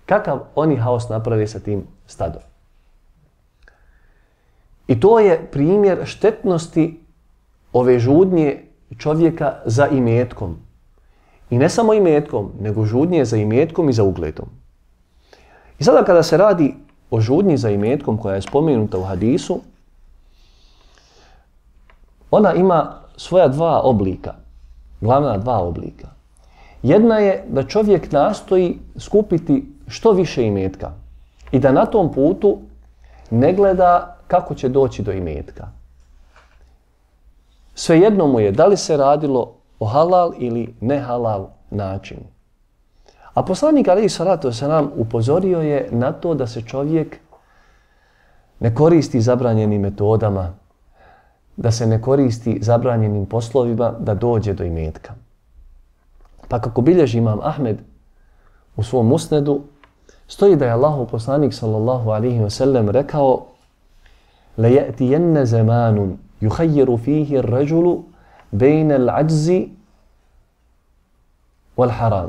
Kakav oni haos naprave sa tim stadom? I to je primjer štetnosti ove žudnje čovjeka za imetkom. I ne samo imetkom, nego žudnje za imetkom i za ugledom. I sada kada se radi o žudnji za imetkom koja je spomenuta u hadisu, ona ima svoja dva oblika, glavna dva oblika. Jedna je da čovjek nastoji skupiti što više imetka i da na tom putu ne gleda kako će doći do imetka. Svejedno mu je da li se radilo o halal ili ne halal načinu. A poslanik alejhi salatu vesselam upozorio je na to da se čovjek ne koristi zabranjenim metodama, da se ne koristi zabranjenim poslovima da dođe do imetka. Pa kako bilježi imam Ahmed u svom musnedu, stoji da je Allahov poslanik sallallahu alejhi ve sellem rekao: "La ya'tiyanna zamanun yukhayyaru fihi ar-rajulu bayna al-'ajzi wal-haram."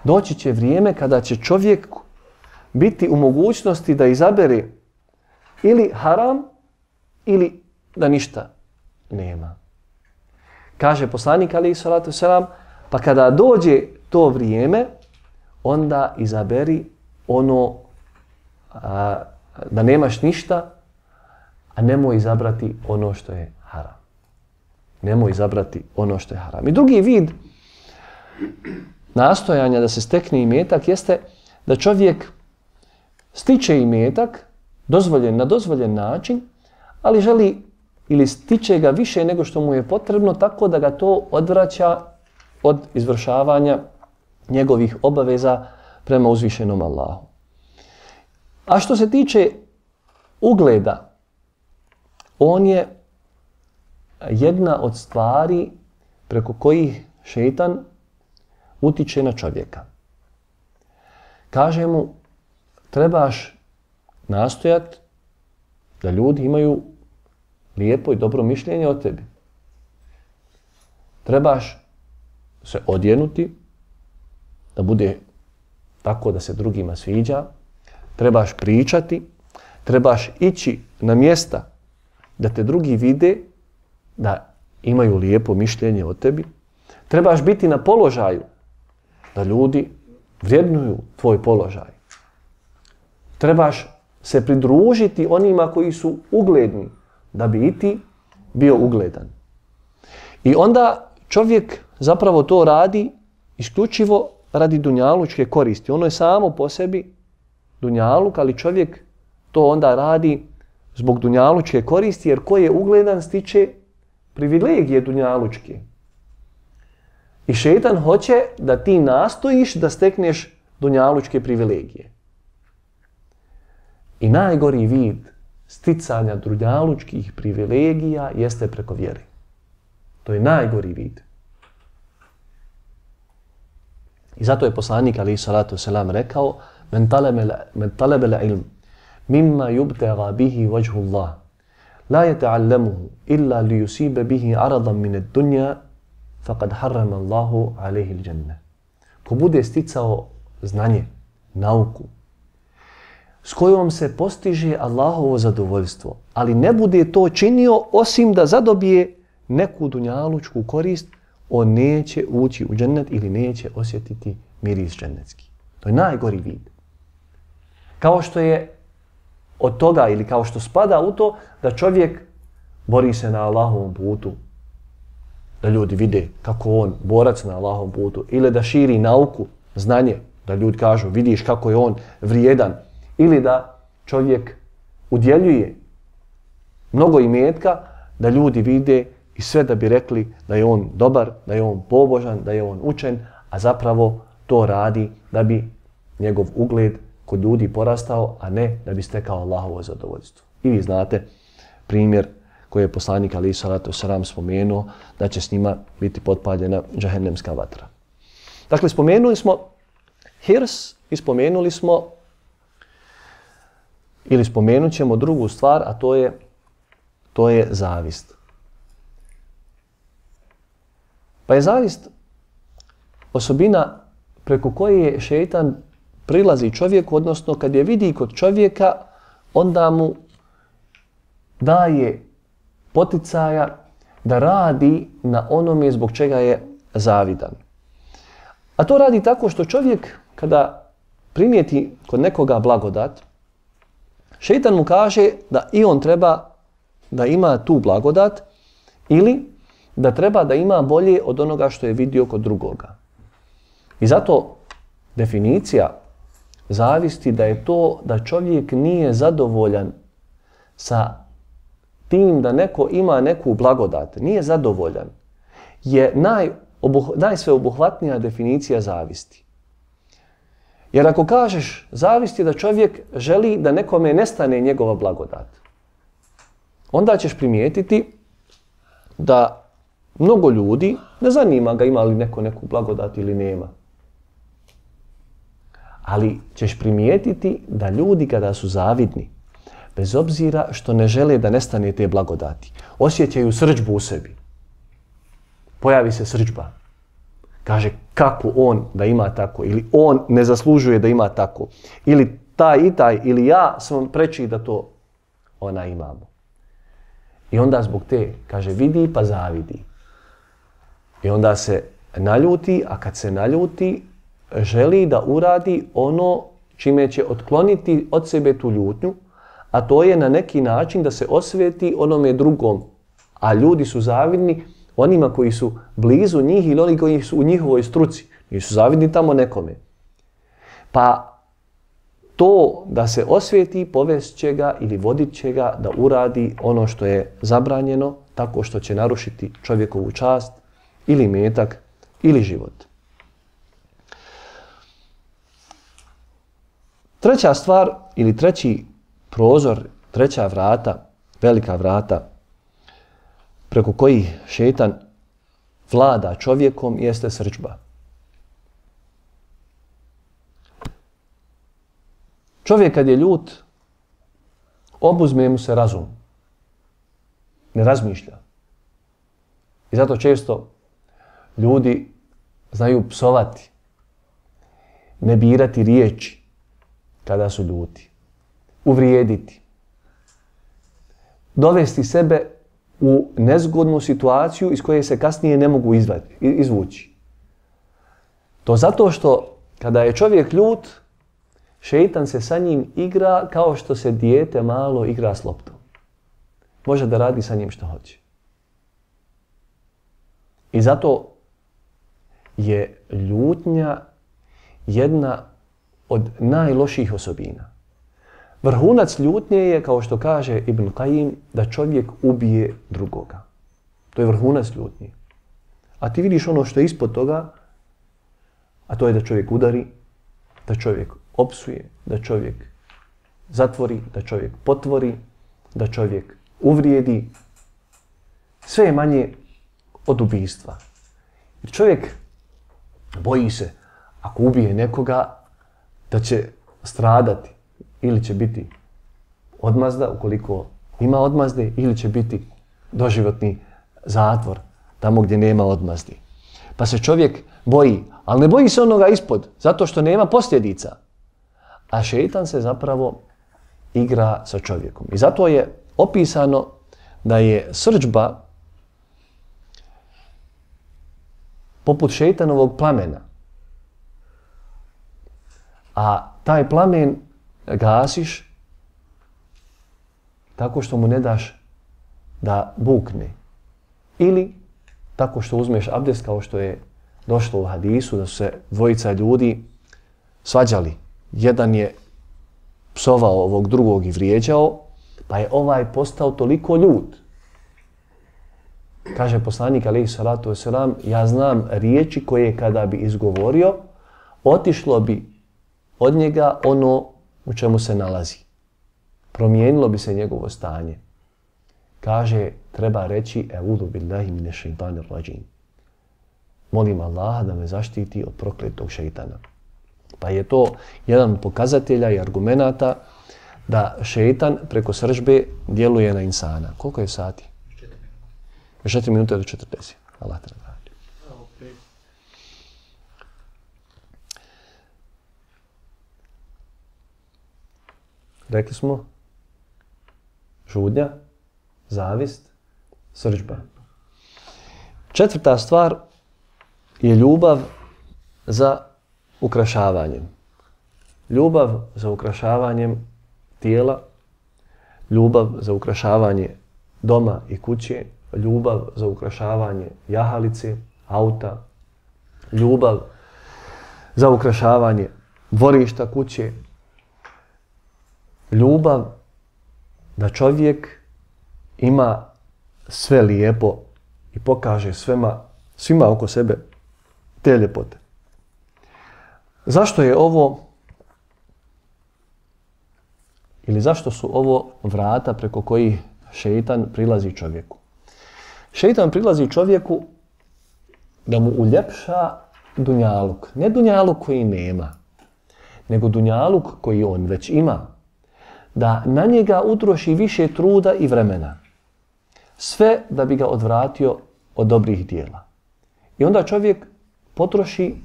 Doći će vrijeme kada će čovjek biti u mogućnosti da izabere ili haram ili da ništa nema. Kaže poslanik alejhi salatu vesselam, pa kada dođe to vrijeme, onda izaberi ono da nemaš ništa, a nemoj izabrati ono što je haram. Nemoj izabrati ono što je haram. I drugi vid nastojanja da se stekne imetak jeste da čovjek stiče imetak na dozvoljen način, ali želi ili stiče ga više nego što mu je potrebno, tako da ga to odvraća od izvršavanja njegovih obaveza prema uzvišenom Allahu. A što se tiče ugleda, on je jedna od stvari preko kojih šejtan utiče na čovjeka. Kaže mu, trebaš nastojati da ljudi imaju lijepo i dobro mišljenje o tebi. Trebaš se odjenuti, da bude tako da se drugima sviđa. Trebaš pričati, trebaš ići na mjesta da te drugi vide, da imaju lijepo mišljenje o tebi. Trebaš biti na položaju, da ljudi vrednuju tvoj položaj. Trebaš se pridružiti onima koji su ugledni, da bi i ti bio ugledan. I onda čovjek zapravo to radi isključivo radi dunjalučke koristi. Ono je samo po sebi dunjaluk, ali čovjek to onda radi zbog dunjalučke koristi, jer ko je ugledan stiče privilegije dunjalučke. I šejtan hoće da ti nastojiš da stekneš dunjalučke privilegije. I najgori vid sticanja dunjalučkih privilegija jeste preko vjere. To je najgori vid. I zato je poslanik alejhi salatu selam rekao: "Men talaba al-ilm mimma yubtagha bihi wajhu Allah, la yata'allamuhu illa li yusiba bihi 'aradan min ad-dunya, faqad harrama Allahu alayhi al-jannah." Ko bude sticao znanje, nauku, s kojom se postiže Allahovo zadovoljstvo, ali ne bude to činio osim da zadobije neku dunjalučku korist, on neće ući u džennet ili neće osjetiti miris džennetski. To je najgori vid. Kao što je od toga ili kao što spada u to da čovjek bori se na Allahovom putu, da ljudi vide kako on borac na Allahovom putu, ili da širi nauku, znanje, da ljudi kažu vidiš kako je on vrijedan, ili da čovjek udjeljuje mnogo imetka, da ljudi vide i sve da bi rekli da je on dobar, da je on pobožan, da je on učen, a zapravo to radi da bi njegov ugled kod ljudi porastao, a ne da bi stekao Allahovo zadovoljstvo. I vi znate primjer koji je poslanik alejhi salatu selam spomenuo, da će s njima biti potpaljena džehennemska vatra. Dakle, spomenuli smo hirs i spomenuli smo ili spomenut ćemo drugu stvar, a to je zavist. Pa je zavist osobina preko koje šejtan prilazi čovjeku, odnosno kad je vidi kod čovjeka, onda mu daje poticaja da radi na onome zbog čega je zavidan. A to radi tako što čovjek kada primijeti kod nekoga blagodat, šejtan mu kaže da i on treba da ima tu blagodat ili da treba da ima bolje od onoga što je vidio kod drugoga. I zato definicija zavisti da je to da čovjek nije zadovoljan sa tim da neko ima neku blagodat, nije zadovoljan, je najsveobuhvatnija definicija zavisti. Jer ako kažeš zavist je da čovjek želi da nekome nestane njegova blagodat, onda ćeš primijetiti da mnogo ljudi ne zanima ga ima li neko neku blagodat ili nema. Ali ćeš primijetiti da ljudi kada su zavidni, bez obzira što ne žele da nestane te blagodati, osjećaju srdžbu u sebi. Pojavi se srdžba. Kaže kako on da ima tako, ili on ne zaslužuje da ima tako, ili taj i taj, ili ja sam preči da to ona imamo. I onda zbog te, kaže, vidi pa zavidi. I onda se naljuti, a kad se naljuti, želi da uradi ono čime će otkloniti od sebe tu ljutnju, a to je na neki način da se osveti onome drugom. A ljudi su zavidni onima koji su blizu njih ili oni koji su u njihovoj struci. Nisu zavidni tamo nekome. Pa to da se osveti povest će ga ili vodit će ga da uradi ono što je zabranjeno, tako što će narušiti čovjekovu čast ili metak ili život. Treća stvar ili treći prozor, treća vrata, velika vrata preko kojih šejtan vlada čovjekom jeste srdžba. Čovjek kad je ljut, obuzme mu se razum. Ne razmišlja. I zato često ljudi znaju psovati, ne birati riječi kada su ljuti, uvrijediti, dovesti sebe u nezgodnu situaciju iz koje se kasnije ne mogu izvući. To zato što kada je čovjek ljut, šeitan se sa njim igra kao što se dijete malo igra s loptom. Može da radi sa njim što hoće. I zato je ljutnja jedna od najlošijih osobina. Vrhunac ljutnje je, kao što kaže Ibn Qajim, da čovjek ubije drugoga. To je vrhunac ljutnje. A ti vidiš ono što je ispod toga, a to je da čovjek udari, da čovjek opsuje, da čovjek zatvori, da čovjek potvori, da čovjek uvrijedi. Sve je manje od ubijstva. Jer čovjek boji se, ako ubije nekoga, da će stradati ili će biti odmazda, ukoliko ima odmazde, ili će biti doživotni zatvor, tamo gdje nema odmazdi. Pa se čovjek boji, ali ne boji se onoga ispod, zato što nema posljedica. A šeitan se zapravo igra sa čovjekom. I zato je opisano da je srdžba poput šeitanovog plamena. A taj plamen gasiš tako što mu ne daš da bukne. Ili tako što uzmeš abdest, kao što je došlo u hadisu, da su se dvojica ljudi svađali. Jedan je psovao ovog drugog i vrijeđao, pa je ovaj postao toliko ljut. Kaže poslanik alejhi salatu vesselam, ja znam riječi koje kada bi izgovorio, otišlo bi od njega ono u čemu se nalazi. Promijenilo bi se njegovo stanje. Kaže, treba reći e'udhu billahi mine šeitanir rajim. Molim Allaha da me zaštiti od prokletog šeitana. Pa je to jedan od pokazatelja i argumenata da šeitan preko srdžbe djeluje na insana. Koliko je sati? 4 minute do 40. Allah te nagradi. Rekli smo žudnja, zavist, srdžba. Četvrta stvar je ljubav za ukrašavanjem. Ljubav za ukrašavanjem tijela, ljubav za ukrašavanje doma i kuće, ljubav za ukrašavanje jahalice, auta, ljubav za ukrašavanje dvorišta, kuće, ljubav da čovjek ima sve lijepo i pokaže svima oko sebe te ljepote. Zašto je ovo, ili zašto su ovo vrata preko kojih šeitan prilazi čovjeku? Šeitan prilazi čovjeku da mu uljepša dunjaluk. Ne dunjaluk koji nema, nego dunjaluk koji on već ima. Da na njega utroši više truda i vremena. Sve da bi ga odvratio od dobrih dijela. I onda čovjek potroši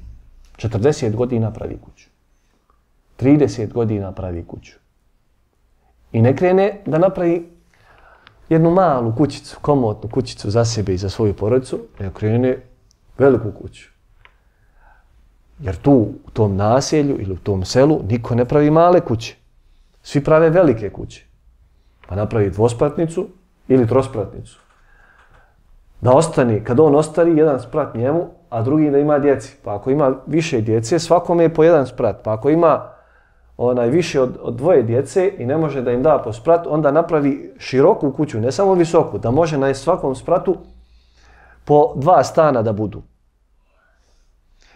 40 godina pravi kuću. 30 godina pravi kuću. I ne krene da napravi jednu malu kućicu, komotnu kućicu za sebe i za svoju porodicu, nego krene veliku kuću. Jer tu u tom naselju ili u tom selu niko ne pravi male kuće. Svi prave velike kuće. Pa napravi dvospratnicu ili trospratnicu. Da ostane, kad on ostari, jedan sprat njemu, a drugi da ima djeci. Pa ako ima više djece, svakome je po jedan sprat. Pa ako ima više od dvoje djece i ne može da im da po sprat, onda napravi široku kuću, ne samo visoku, da može na svakom spratu po 2 stana da budu.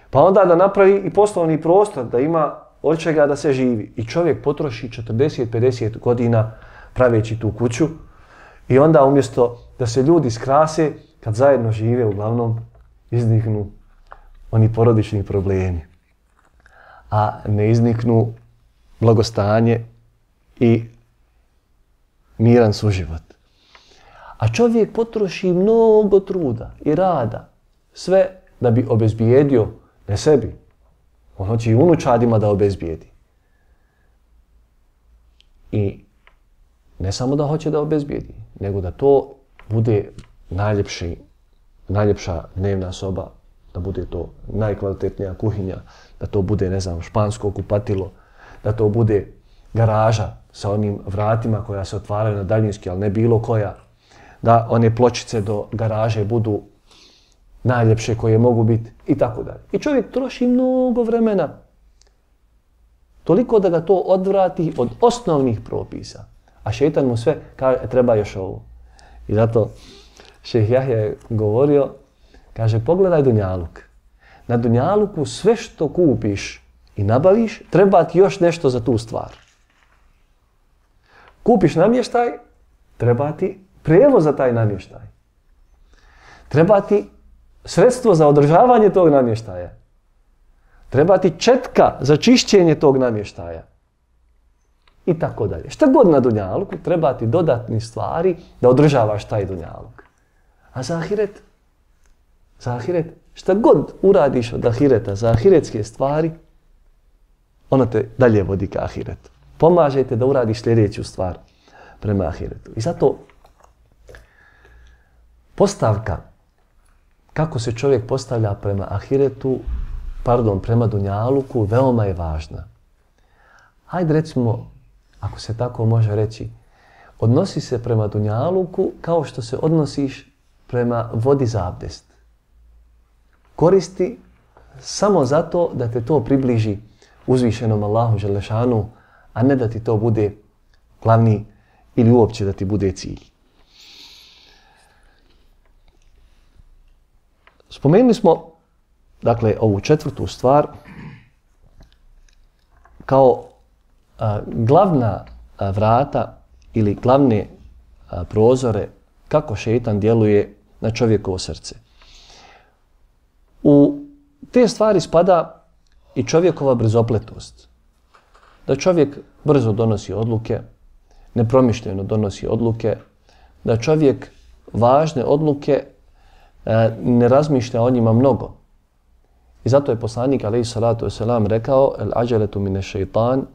Pa onda da napravi i poslovni prostor, da ima od čega da se živi. I čovjek potroši 40-50 godina praveći tu kuću i onda umjesto da se ljudi skrase, kad zajedno žive, uglavnom izniknu oni porodični problemi. A ne izniknu blagostanje i miran suživot. A čovjek potroši mnogo truda i rada, sve da bi obezbijedio, ne sebi, on hoće i unučadima da obezbijedi. I ne samo da hoće da obezbijedi, nego da to bude najljepša dnevna soba, da bude to najkvalitetnija kuhinja, da to bude, ne znam, špansko kupatilo, da to bude garaža sa onim vratima koja se otvaraju na daljinski, ali ne bilo koja. Da one pločice do garaže budu najljepše koje mogu biti i tako dalje. I čovjek troši mnogo vremena toliko da ga to odvrati od osnovnih propisa. A šejtan mu sve kaže, treba još ovo. I zato šejh Jahja je govorio, kaže, pogledaj dunjaluk. Na dunjaluku sve što kupiš i nabaviš, treba ti još nešto za tu stvar. Kupiš namještaj, treba ti prijevoz za taj namještaj. Treba ti sredstvo za održavanje tog namještaja. Treba ti četka za čišćenje tog namještaja. I tako dalje. Šta god na dunjaluku, treba ti dodatni stvari da održavaš taj dunjaluk. A za ahiret? Za ahiret? Šta god uradiš od ahireta za ahiretske stvari, ono te dalje vodi ka ahiretu. Pomažete da uradiš sljedeću stvar prema ahiretu. I zato postavka kako se čovjek postavlja prema ahiretu, prema dunjaluku, veoma je važna. Hajde recimo, ako se tako može reći, odnosi se prema dunjaluku kao što se odnosiš prema vodi za abdest. Koristi samo zato da te to približi uzvišenom Allahu Đelešanu, a ne da ti to bude glavni ili uopće da ti bude cilj. Spomenuli smo, dakle, ovu četvrtu stvar kao glavna vrata ili glavne prozore kako šejtan djeluje na čovjekovo srce. U te stvari spada i čovjekova brzopletost. Da čovjek brzo donosi odluke, nepromišljeno donosi odluke, da čovjek važne odluke ne razmišlja o njima mnogo. I zato je poslanik alejhi salatu vesselam rekao: "El ađeletu mine šejtan",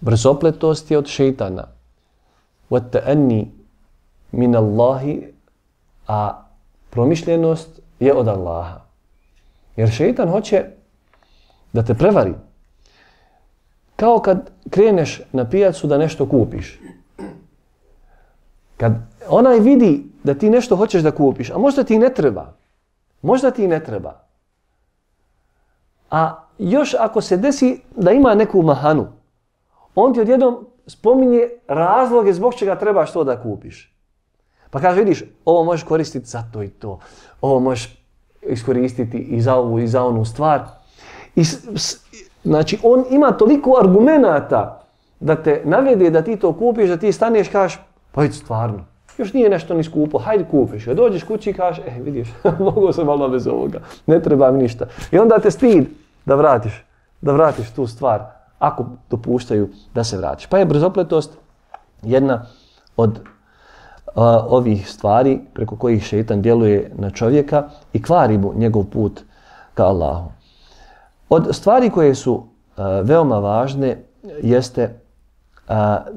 brzopletost je od šejtana. "Wa ta'anni min Allahi", a promišljenost je od Allaha. Jer šejtan hoće da te prevari. Kao kad kreneš na pijacu da nešto kupiš. Kad onaj vidi da ti nešto hoćeš da kupiš, a možda ti ne treba. Možda ti ne treba. A još ako se desi da ima neku mahanu, on ti odjednom spominje razloge zbog čega trebaš to da kupiš. Pa kaže, vidiš, ovo možeš koristiti za to i to. Ovo možeš iskoristiti i za ovu i za onu stvar. Znači, on ima toliko argumenata da te navede da ti to kupiš, da ti staneš i kažeš, pa vidi stvarno, još nije nešto ni skupo, hajde kupiš. Kad dođeš kući i kažeš, vidiš, mogu sam malo bez ovoga, ne treba mi ništa. I onda te stid da vratiš tu stvar, ako dopuštaju da se vratiš. Pa je brzopletost jedna od ovih stvari preko kojih šejtan djeluje na čovjeka i kvari mu njegov put ka Allahu. Od stvari koje su veoma važne jeste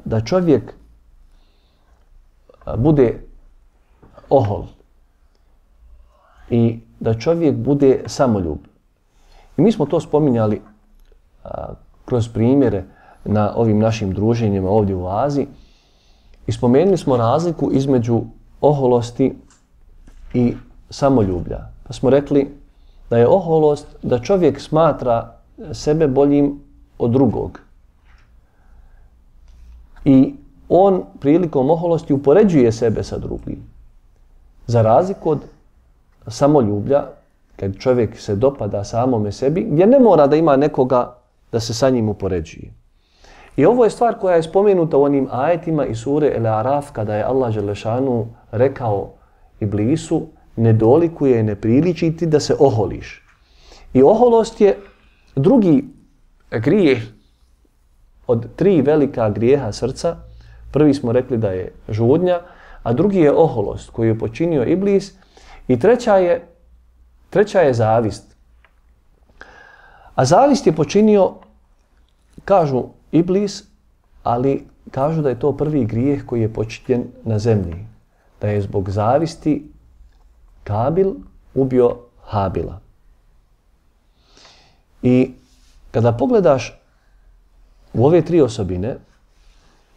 da čovjek bude ohol i da čovjek bude samoljub. I mi smo to spominjali kroz primjere na ovim našim druženjima ovdje u Aziji i spomenuli smo razliku između oholosti i samoljublja. Pa smo rekli da je oholost da čovjek smatra sebe boljim od drugog. I on prilikom oholosti upoređuje sebe sa drugim. Za razliku od samoljublja, kad čovjek se dopada samome sebi, gdje ne mora da ima nekoga da se sa njim upoređuje. I ovo je stvar koja je spomenuta u onim ajetima iz sure El-Araf, kada je Allah Đelešanu rekao Iblisu, ne dolikuje i ne priliči ti da se oholiš. I oholost je drugi grijeh od 3 velika grijeha srca. Prvi smo rekli da je žudnja, a drugi je oholost koju je počinio Iblis i treća je zavist. A zavist je počinio, kažu Iblis, ali kažu da je to prvi grijeh koji je počinjen na zemlji. Da je zbog zavisti Kabil ubio Habila. I kada pogledaš u ove tri osobine,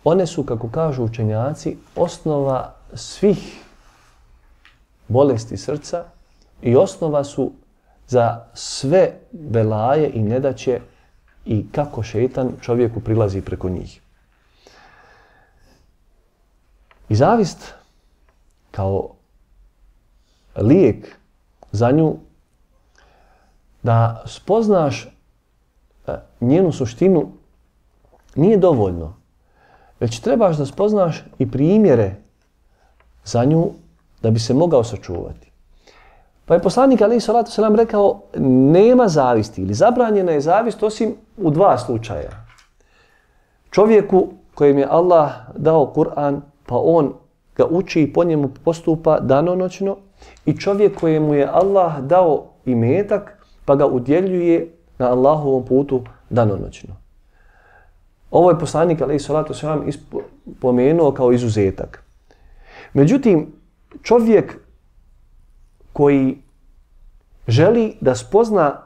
one su, kako kažu učenjaci, osnova svih bolesti srca i osnova su za sve belaje i nedaće i kako šejtan čovjeku prilazi preko njih. I zavist kao lijek za nju, da spoznaš njenu suštinu, nije dovoljno. Već trebaš da spoznaš i primjere za nju da bi se mogao sačuvati. Pa je poslanik alejhi salatu selam rekao, nema zavisti ili zabranjena je zavist osim u dva slučaja. Čovjeku kojem je Allah dao Kur'an, pa on ga uči i po njemu postupa danonoćno, i čovjek kojemu je Allah dao imetak, pa ga udjeljuje na Allahovom putu danonoćno. Ovo je poslanik alejhi salatu selam pomenuo kao izuzetak. Međutim, čovjek koji želi da spozna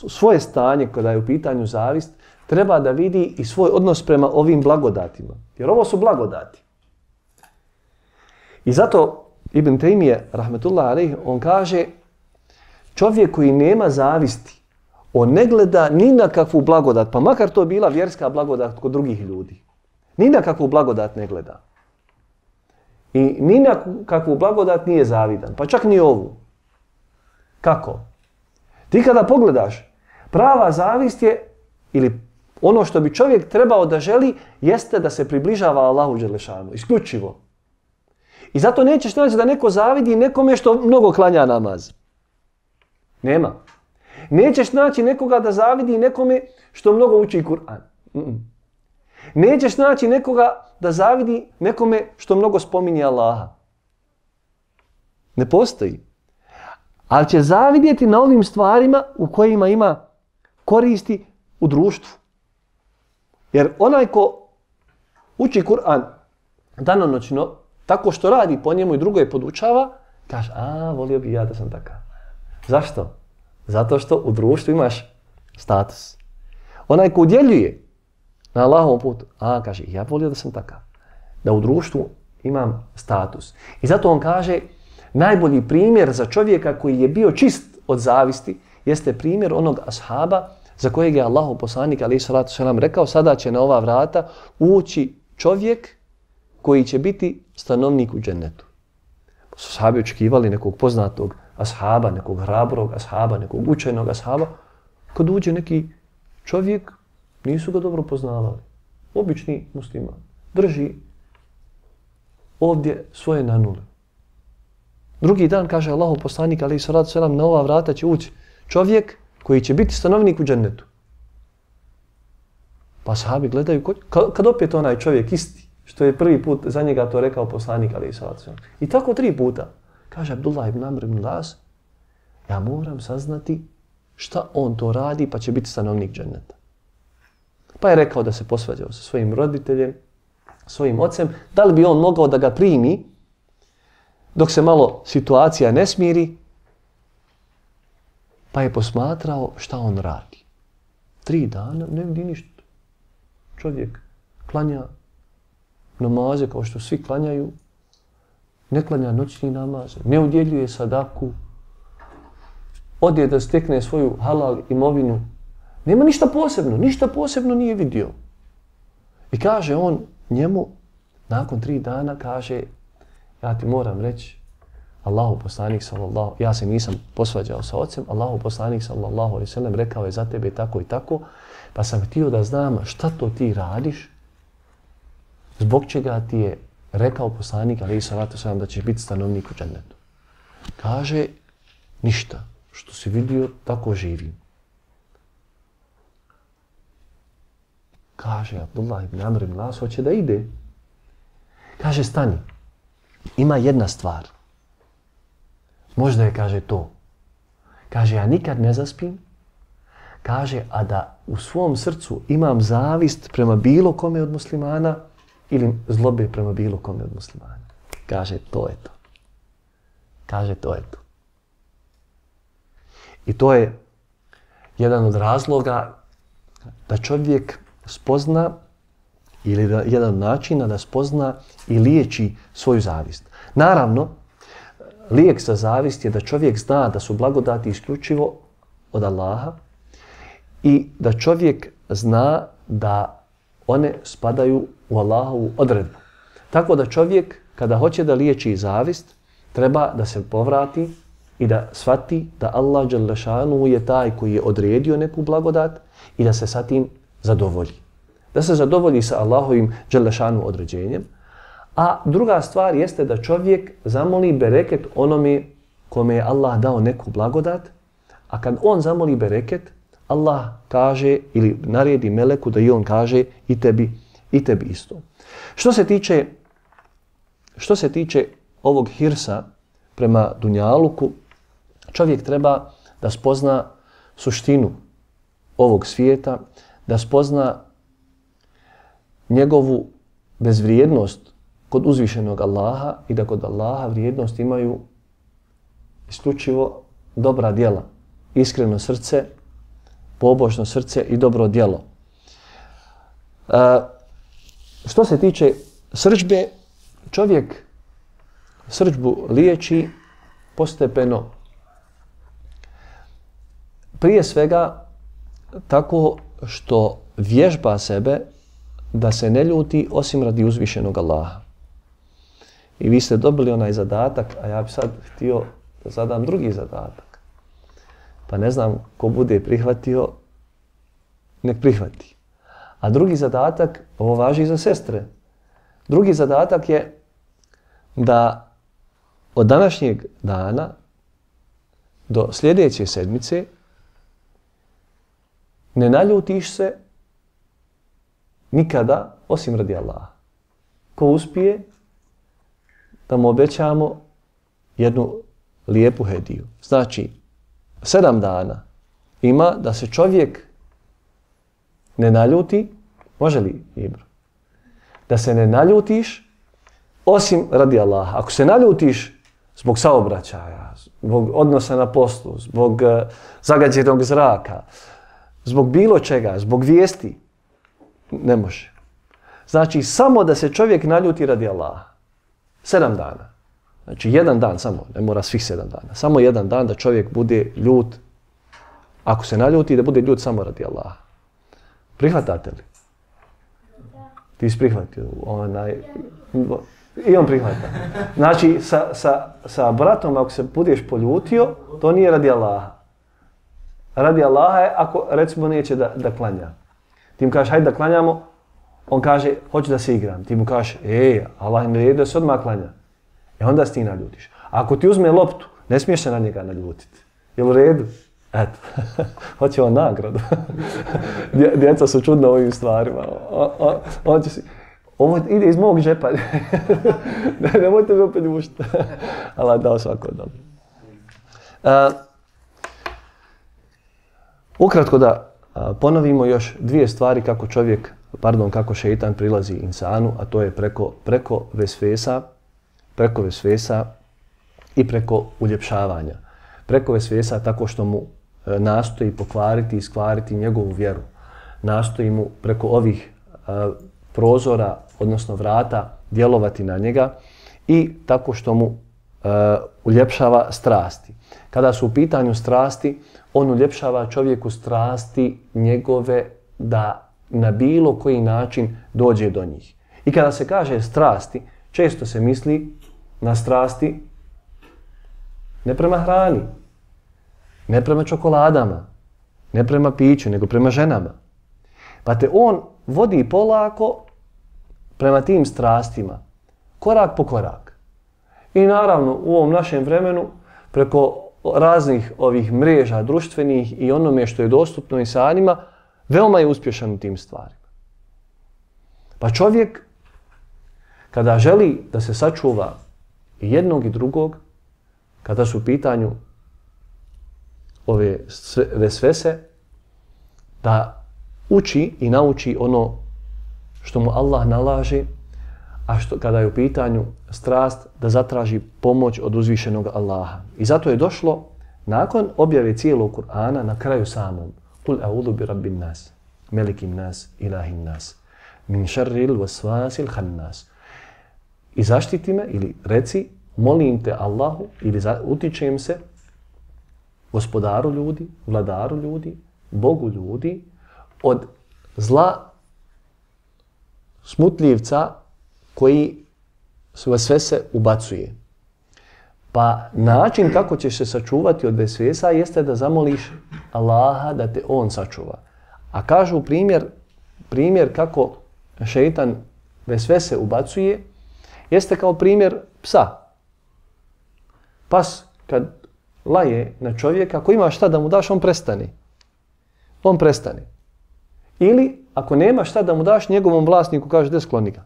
svoje stanje kada je u pitanju zavist, treba da vidi i svoj odnos prema ovim blagodatima. Jer ovo su blagodati. I zato Ibn Tejmije, rahmetullah alejhi, on kaže, čovjek koji nema zavisti, on ne gleda ni na kakvu blagodat, pa makar to bila vjerska blagodat kod drugih ljudi. Ni na kakvu blagodat ne gleda. I ni na kakvu blagodat nije zavidan, pa čak ni ovu. Kako? Ti kada pogledaš, prava zavist je, ili ono što bi čovjek trebao da želi, jeste da se približava Allahu dželešanu, isključivo. I zato nećeš naći da neko zavidi nekome što mnogo klanja namaz. Nema. Nećeš naći nekoga da zavidi nekome što mnogo uči Kur'an. Nećeš naći nekoga da zavidi nekome što mnogo spominje Allaha. Ne postoji. Ali će zavidjeti na ovim stvarima u kojima ima koristi u društvu. Jer onaj ko uči Kur'an danonoćno, tako što radi po njemu i drugo je podučava, kaže, volio bi ja da sam takav. Zašto? Zato što u društvu imaš status. Onaj ko udjeljuje na Allahovom putu, kaže, ja volio da sam takav. Da u društvu imam status. I zato on kaže, najbolji primjer za čovjeka koji je bio čist od zavisti jeste primjer onog ashaba za kojeg je Allahov poslanik alejhi salatu selam rekao, sada će na ova vrata ući čovjek koji će biti stanovnik u džennetu. Pa su sahabi očekivali nekog poznatog ashaba, nekog hrabrog ashaba, nekog učenog ashaba. Kad uđe neki čovjek, nisu ga dobro poznavali. Obični musliman. Drži ovdje svoje nanule. Drugi dan, kaže Allahov poslanik alejhi salatu selam, na ova vrata će ući čovjek koji će biti stanovnik u džennetu. Pa sahabi gledaju, kad opet onaj čovjek isti, što je prvi put za njega to rekao poslanik alejhi salatu selam. I tako 3 puta. Kaže Abdullah ibn Amr ibn Las, ja moram saznati šta on to radi, pa će biti stanovnik dženneta. Pa je rekao da se posvađao sa svojim roditeljem, svojim ocem, da li bi on mogao da ga primi dok se malo situacija ne smiri, pa je posmatrao šta on radi. 3 dana ne vidi ništa. Čovjek klanja namaze kao što svi klanjaju, ne klanja noćni namaz, ne udjeljuje sadaku, ode da stekne svoju halal imovinu. Nema ništa posebno nije vidio. I kaže on njemu, nakon 3 dana, kaže, ja ti moram reći, Allahu poslanik sallallahu, ja se nisam posvađao sa ocem, Allahu poslanik sallallahu alejhi ve sellem rekao je za tebe tako i tako, pa sam htio da znam šta to ti radiš, zbog čega ti je rekao poslanik alejhi salatu selam da ćeš biti stanovnik u džennetu. Kaže, ništa, što si vidio, tako živim. Kaže Abdullah ibn Amr ibn Las, hoće da ide. Kaže, stani, ima jedna stvar. Možda je, kaže, to. Kaže, ja nikad ne zaspim. Kaže, a da u svom srcu imam zavist prema bilo kome od muslimana ili zlobe prema bilo kome od muslimana. Kaže, to je to. Kaže, to je to. I to je jedan od razloga da čovjek spozna ili jedan od načina da spozna i liječi svoju zavist. Naravno, lijek za zavist je da čovjek zna da su blagodati isključivo od Allaha i da čovjek zna da one spadaju u Allahovu odredbu. Tako da čovjek kada hoće da liječi zavist treba da se povrati i da shvati da Allah dželle šanuhu je taj koji je odredio neku blagodat i da se sa tim zadovolji. Da se zadovolji sa Allahovim dželle šanuhu određenjem. A druga stvar jeste da čovjek zamoli bereket onome kome je Allah dao neku blagodat, a kad on zamoli bereket, Allah kaže ili naredi meleku da i on kaže i tebi isto. Što se tiče ovog hirsa prema dunjaluku, čovjek treba da spozna suštinu ovog svijeta, da spozna njegovu bezvrijednost kod uzvišenog Allaha i da kod Allaha vrijednost imaju isključivo dobra djela, iskreno srce, pobožno srce i dobro djelo. Što se tiče srdžbe, čovjek srdžbu liječi postepeno. Prije svega tako što vježba sebe da se ne ljuti osim radi uzvišenog Allaha. I vi ste dobili onaj zadatak, a ja bi sad htio da zadam drugi zadatak. Pa ne znam ko bude prihvatio, nek prihvati. A drugi zadatak, ovo važi i za sestre, drugi zadatak je da od današnjeg dana do sljedeće sedmice ne naljutiš se nikada osim radi Allaha. Ko uspije, da mu obećamo jednu lijepu hediju. Znači, 7 dana ima da se čovjek ne naljuti, može li Ibro? Da se ne naljutiš osim radi Allaha. Ako se naljutiš zbog saobraćaja, zbog odnosa na poslu, zbog zagađenog zraka, zbog bilo čega, zbog vijesti, ne može. Znači, samo da se čovjek naljuti radi Allaha. 7 dana. Znači, 1 dan samo, ne mora svih 7 dana. Samo 1 dan da čovjek bude ljut. Ako se naljuti, da bude ljut samo radi Allaha. Prihvatate li? Ti si prihvatio. I on prihvata. Znači, sa bratom, ako se budeš poljutio, to nije radi Allaha. Radi Allaha je ako, recimo, neće da klanja. Ti mu kažeš, hajde da klanjamo, on kaže, hoću da se igram. Ti mu kažeš, Allah im redio da se odmah klanja. Onda se ti naljutiš. Ako ti uzme loptu, ne smiješ se na njega naljutiti. Je u redu? Eto, hoće on nagradu. Djeca su čudna ovim stvarima. Ovo ide iz mog džepa. Nemojte mi opet ljušiti. Allah dao svako dobro. Ukratko da ponovimo još 2 stvari kako šeitan prilazi insanu, a to je preko vesvesa i preko uljepšavanja. Preko vesvesa tako što mu nastoji pokvariti i iskvariti njegovu vjeru. Nastoji mu preko ovih prozora, odnosno vrata, djelovati na njega i tako što mu uljepšava strasti. Kada su u pitanju strasti, on uljepšava čovjeku strasti njegove da na bilo koji način dođe do njih. I kada se kaže strasti, često se misli na strasti ne prema hrani, ne prema čokoladama, ne prema piću, nego prema ženama. Pa te on vodi polako prema tim strastima, korak po korak. I naravno u ovom našem vremenu preko raznih ovih mreža društvenih i onome što je dostupno insanima, veoma je uspješan u tim stvarima. Pa čovjek kada želi da se sačuva i jednog i drugog, kada su u pitanju ove vesvese, da uči i nauči ono što mu Allah nalaže, a kada je u pitanju strast, da zatraži pomoć od uzvišenog Allaha. I zato je došlo, nakon objave cijelog Kur'ana, na kraju samom, Kul a'udhu bi rabbin nas. melikim nas, ilahin nas, min šarril vasvasil hannas. I zaštiti me, ili reci, molim te Allahu, ili utičem se gospodaru ljudi, vladaru ljudi, Bogu ljudi, od zla smutljivca koji sve se ubacuje. Pa način kako ćeš se sačuvati od vesvesa jeste da zamoliš Allaha da te on sačuva. A kažu primjer kako šeitan vesvese ubacuje jeste kao primjer psa. Pas kad laje na čovjeka, ako ima šta da mu daš, on prestane. On prestane. Ili ako nema šta da mu daš, njegovom vlasniku kaže da skloni ga.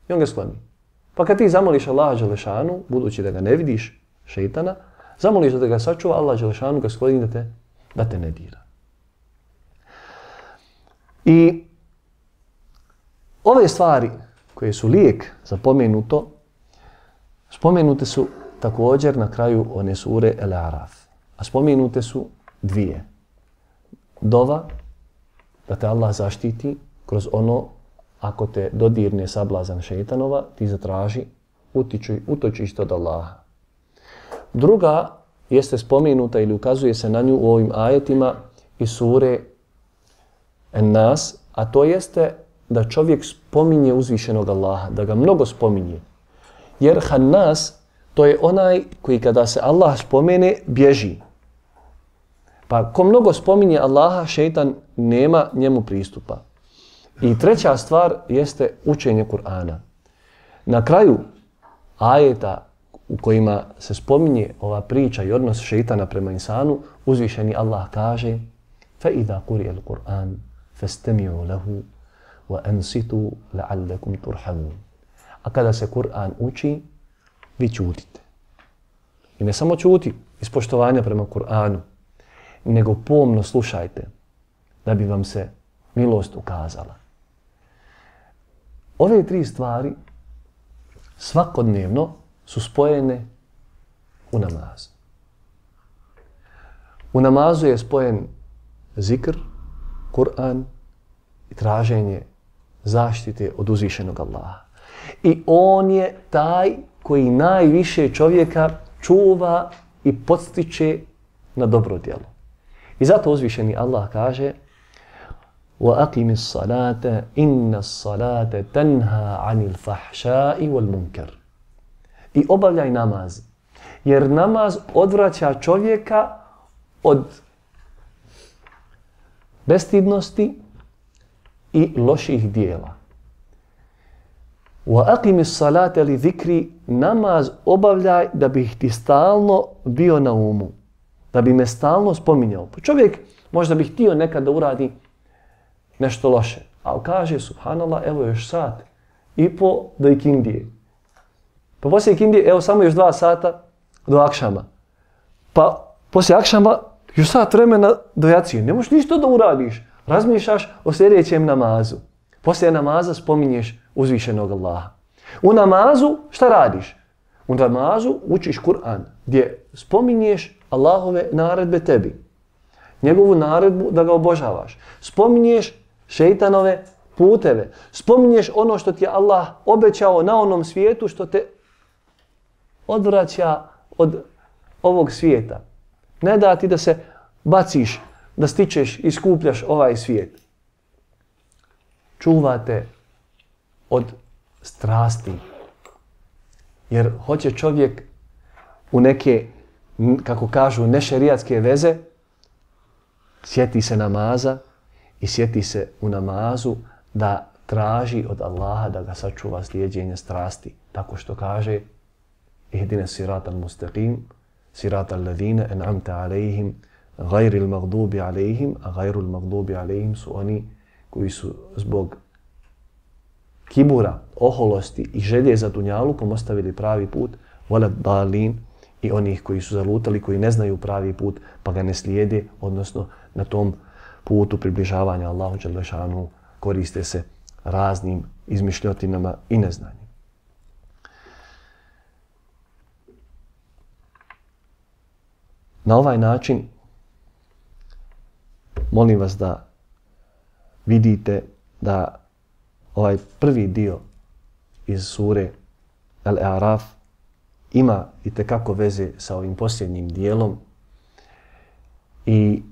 I on ga skloni. Pa kad ti zamoliš Allaha Đelešanu, budući da ga ne vidiš, šeitana, zamoliš da ga sačuva, Allah Đelešanu ga skloni da te ne dira. I ove stvari koje su lijek za pomenuto, spomenute su također na kraju one sure El-Araf. A spomenute su dvije. Dova, da te Allah zaštiti kroz ono, ako te dodirne sablazan šeitanova, ti zatraži utočište od Allaha. Druga jeste spomenuta ili ukazuje se na nju u ovim ajetima iz sure En-Nas, a to jeste da čovjek spominje uzvišenog Allaha, da ga mnogo spominje. Jer Hannas, to je onaj koji kada se Allah spomene, bježi. Pa ko mnogo spominje Allaha, šeitan nema njemu pristupa. I treća stvar jeste učenje Kur'ana. Na kraju ajeta u kojima se spominje ova priča i odnos šeitana prema insanu, uzvišeni Allah kaže فَإِذَا قُرِيَ الْقُرْآنِ فَاسْتَمِعُوا لَهُ وَأَنْسِتُوا لَعَلَّكُمْ تُرْحَمُونَ. A kada se Kur'an uči, vi ćutite. I ne samo ćuti iz poštovanja prema Kur'anu, nego pomno slušajte da bi vam se milost ukazala. Ove tri stvari svakodnevno su spojene u namazu. U namazu je spojen zikr, Kur'an i traženje zaštite od uzvišenog Allaha. I on je taj koji najviše čovjeka čuva i podstiče na dobro djelo. I zato uzvišeni Allah kaže وَأَقِمِ الصَّلَاةَ إِنَّ الصَّلَاةَ تَنْهَا عَنِ الْفَحْشَاءِ وَالْمُنْكَرِ. I obavljaj namaz, jer namaz odvraća čovjeka od bestidnosti i loših dijela. وَأَقِمِ الصَّلَاةَ لِذِكْرِ. Namaz obavljaj da bih ti stalno bio na umu, da bi me stalno spominjao. Pa čovjek možda bi htio nekad da uradi nešto loše, ali kaže subhanallah, evo još sat i po do ikindije. Pa poslije ikindije, evo samo još 2 sata do akšama. Pa poslije akšama još sat vremena do jacije. Ne možeš ništa da uradiš. Razmišljaš o sljedećem namazu. Poslije namaza spominješ uzvišenog Allaha. U namazu šta radiš? U namazu učiš Kur'an gdje spominješ Allahove naredbe tebi. Njegovu naredbu da ga obožavaš. Spominješ šeitanove puteve. Spominješ ono što ti je Allah obećao na onom svijetu što te odvraća od ovog svijeta. Ne da ti da se baciš, da stičeš i skupljaš ovaj svijet. Čuvate od strasti. Jer hoće čovjek u neke, kako kažu, nešerijatske veze, sjeti se namaza i sjeti se u namazu da traži od Allaha da ga sačuva slijeđenja strasti. Tako što kaže ihdina siratal mustaqim, siratal ladhina en'amta alejhim, gajril magdubi alejhim, a gajrul magdubi alejhim su oni koji su zbog kibura, oholosti i želje za dunjalukom ostavili pravi put, volad dalin, i onih koji su zalutali, koji ne znaju pravi put, pa ga ne slijede, odnosno na tom putu približavanja Allahu Đelešanu koriste se raznim izmišljotinama i neznanjem. Na ovaj način molim vas da vidite da ovaj prvi dio iz sure Al-A'raf ima itekako veze sa ovim posljednjim dijelom i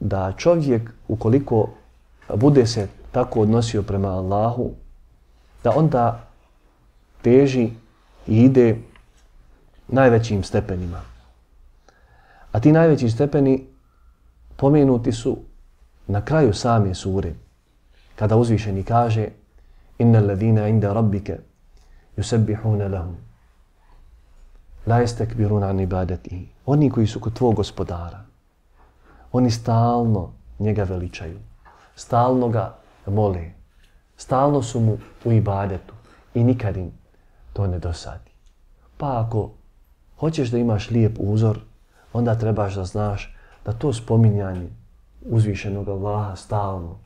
da čovjek, ukoliko bude se tako odnosio prema Allahu, da onda teži i ide najvećim stepenima. A ti najveći stepeni pomenuti su na kraju same sure, kada uzvišeni kaže innal ladina inda rabbika yusabbihuna lahu la yastakbiruna an ibadatihi. Oni koji su kod tvog gospodara, oni stalno njega veličaju, stalno ga mole, stalno su mu u ibadetu i nikad im to ne dosadi. Pa ako hoćeš da imaš lijep uzor, onda trebaš da znaš da to spominjanje uzvišenog Allaha stalno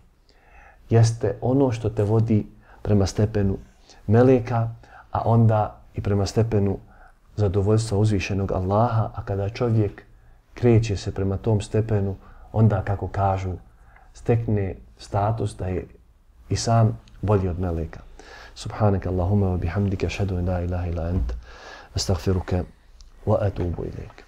jeste ono što te vodi prema stepenu meleka, a onda i prema stepenu zadovoljstva uzvišenog Allaha, a kada čovjek kreće se prema tom stepenu, onda, kako kažu, stekne status da je i sam bolji od meleka. Subhanaka Allahumma wa bihamdika ashhadu an la ilaha illa anta astaghfiruka wa atubu ilayk.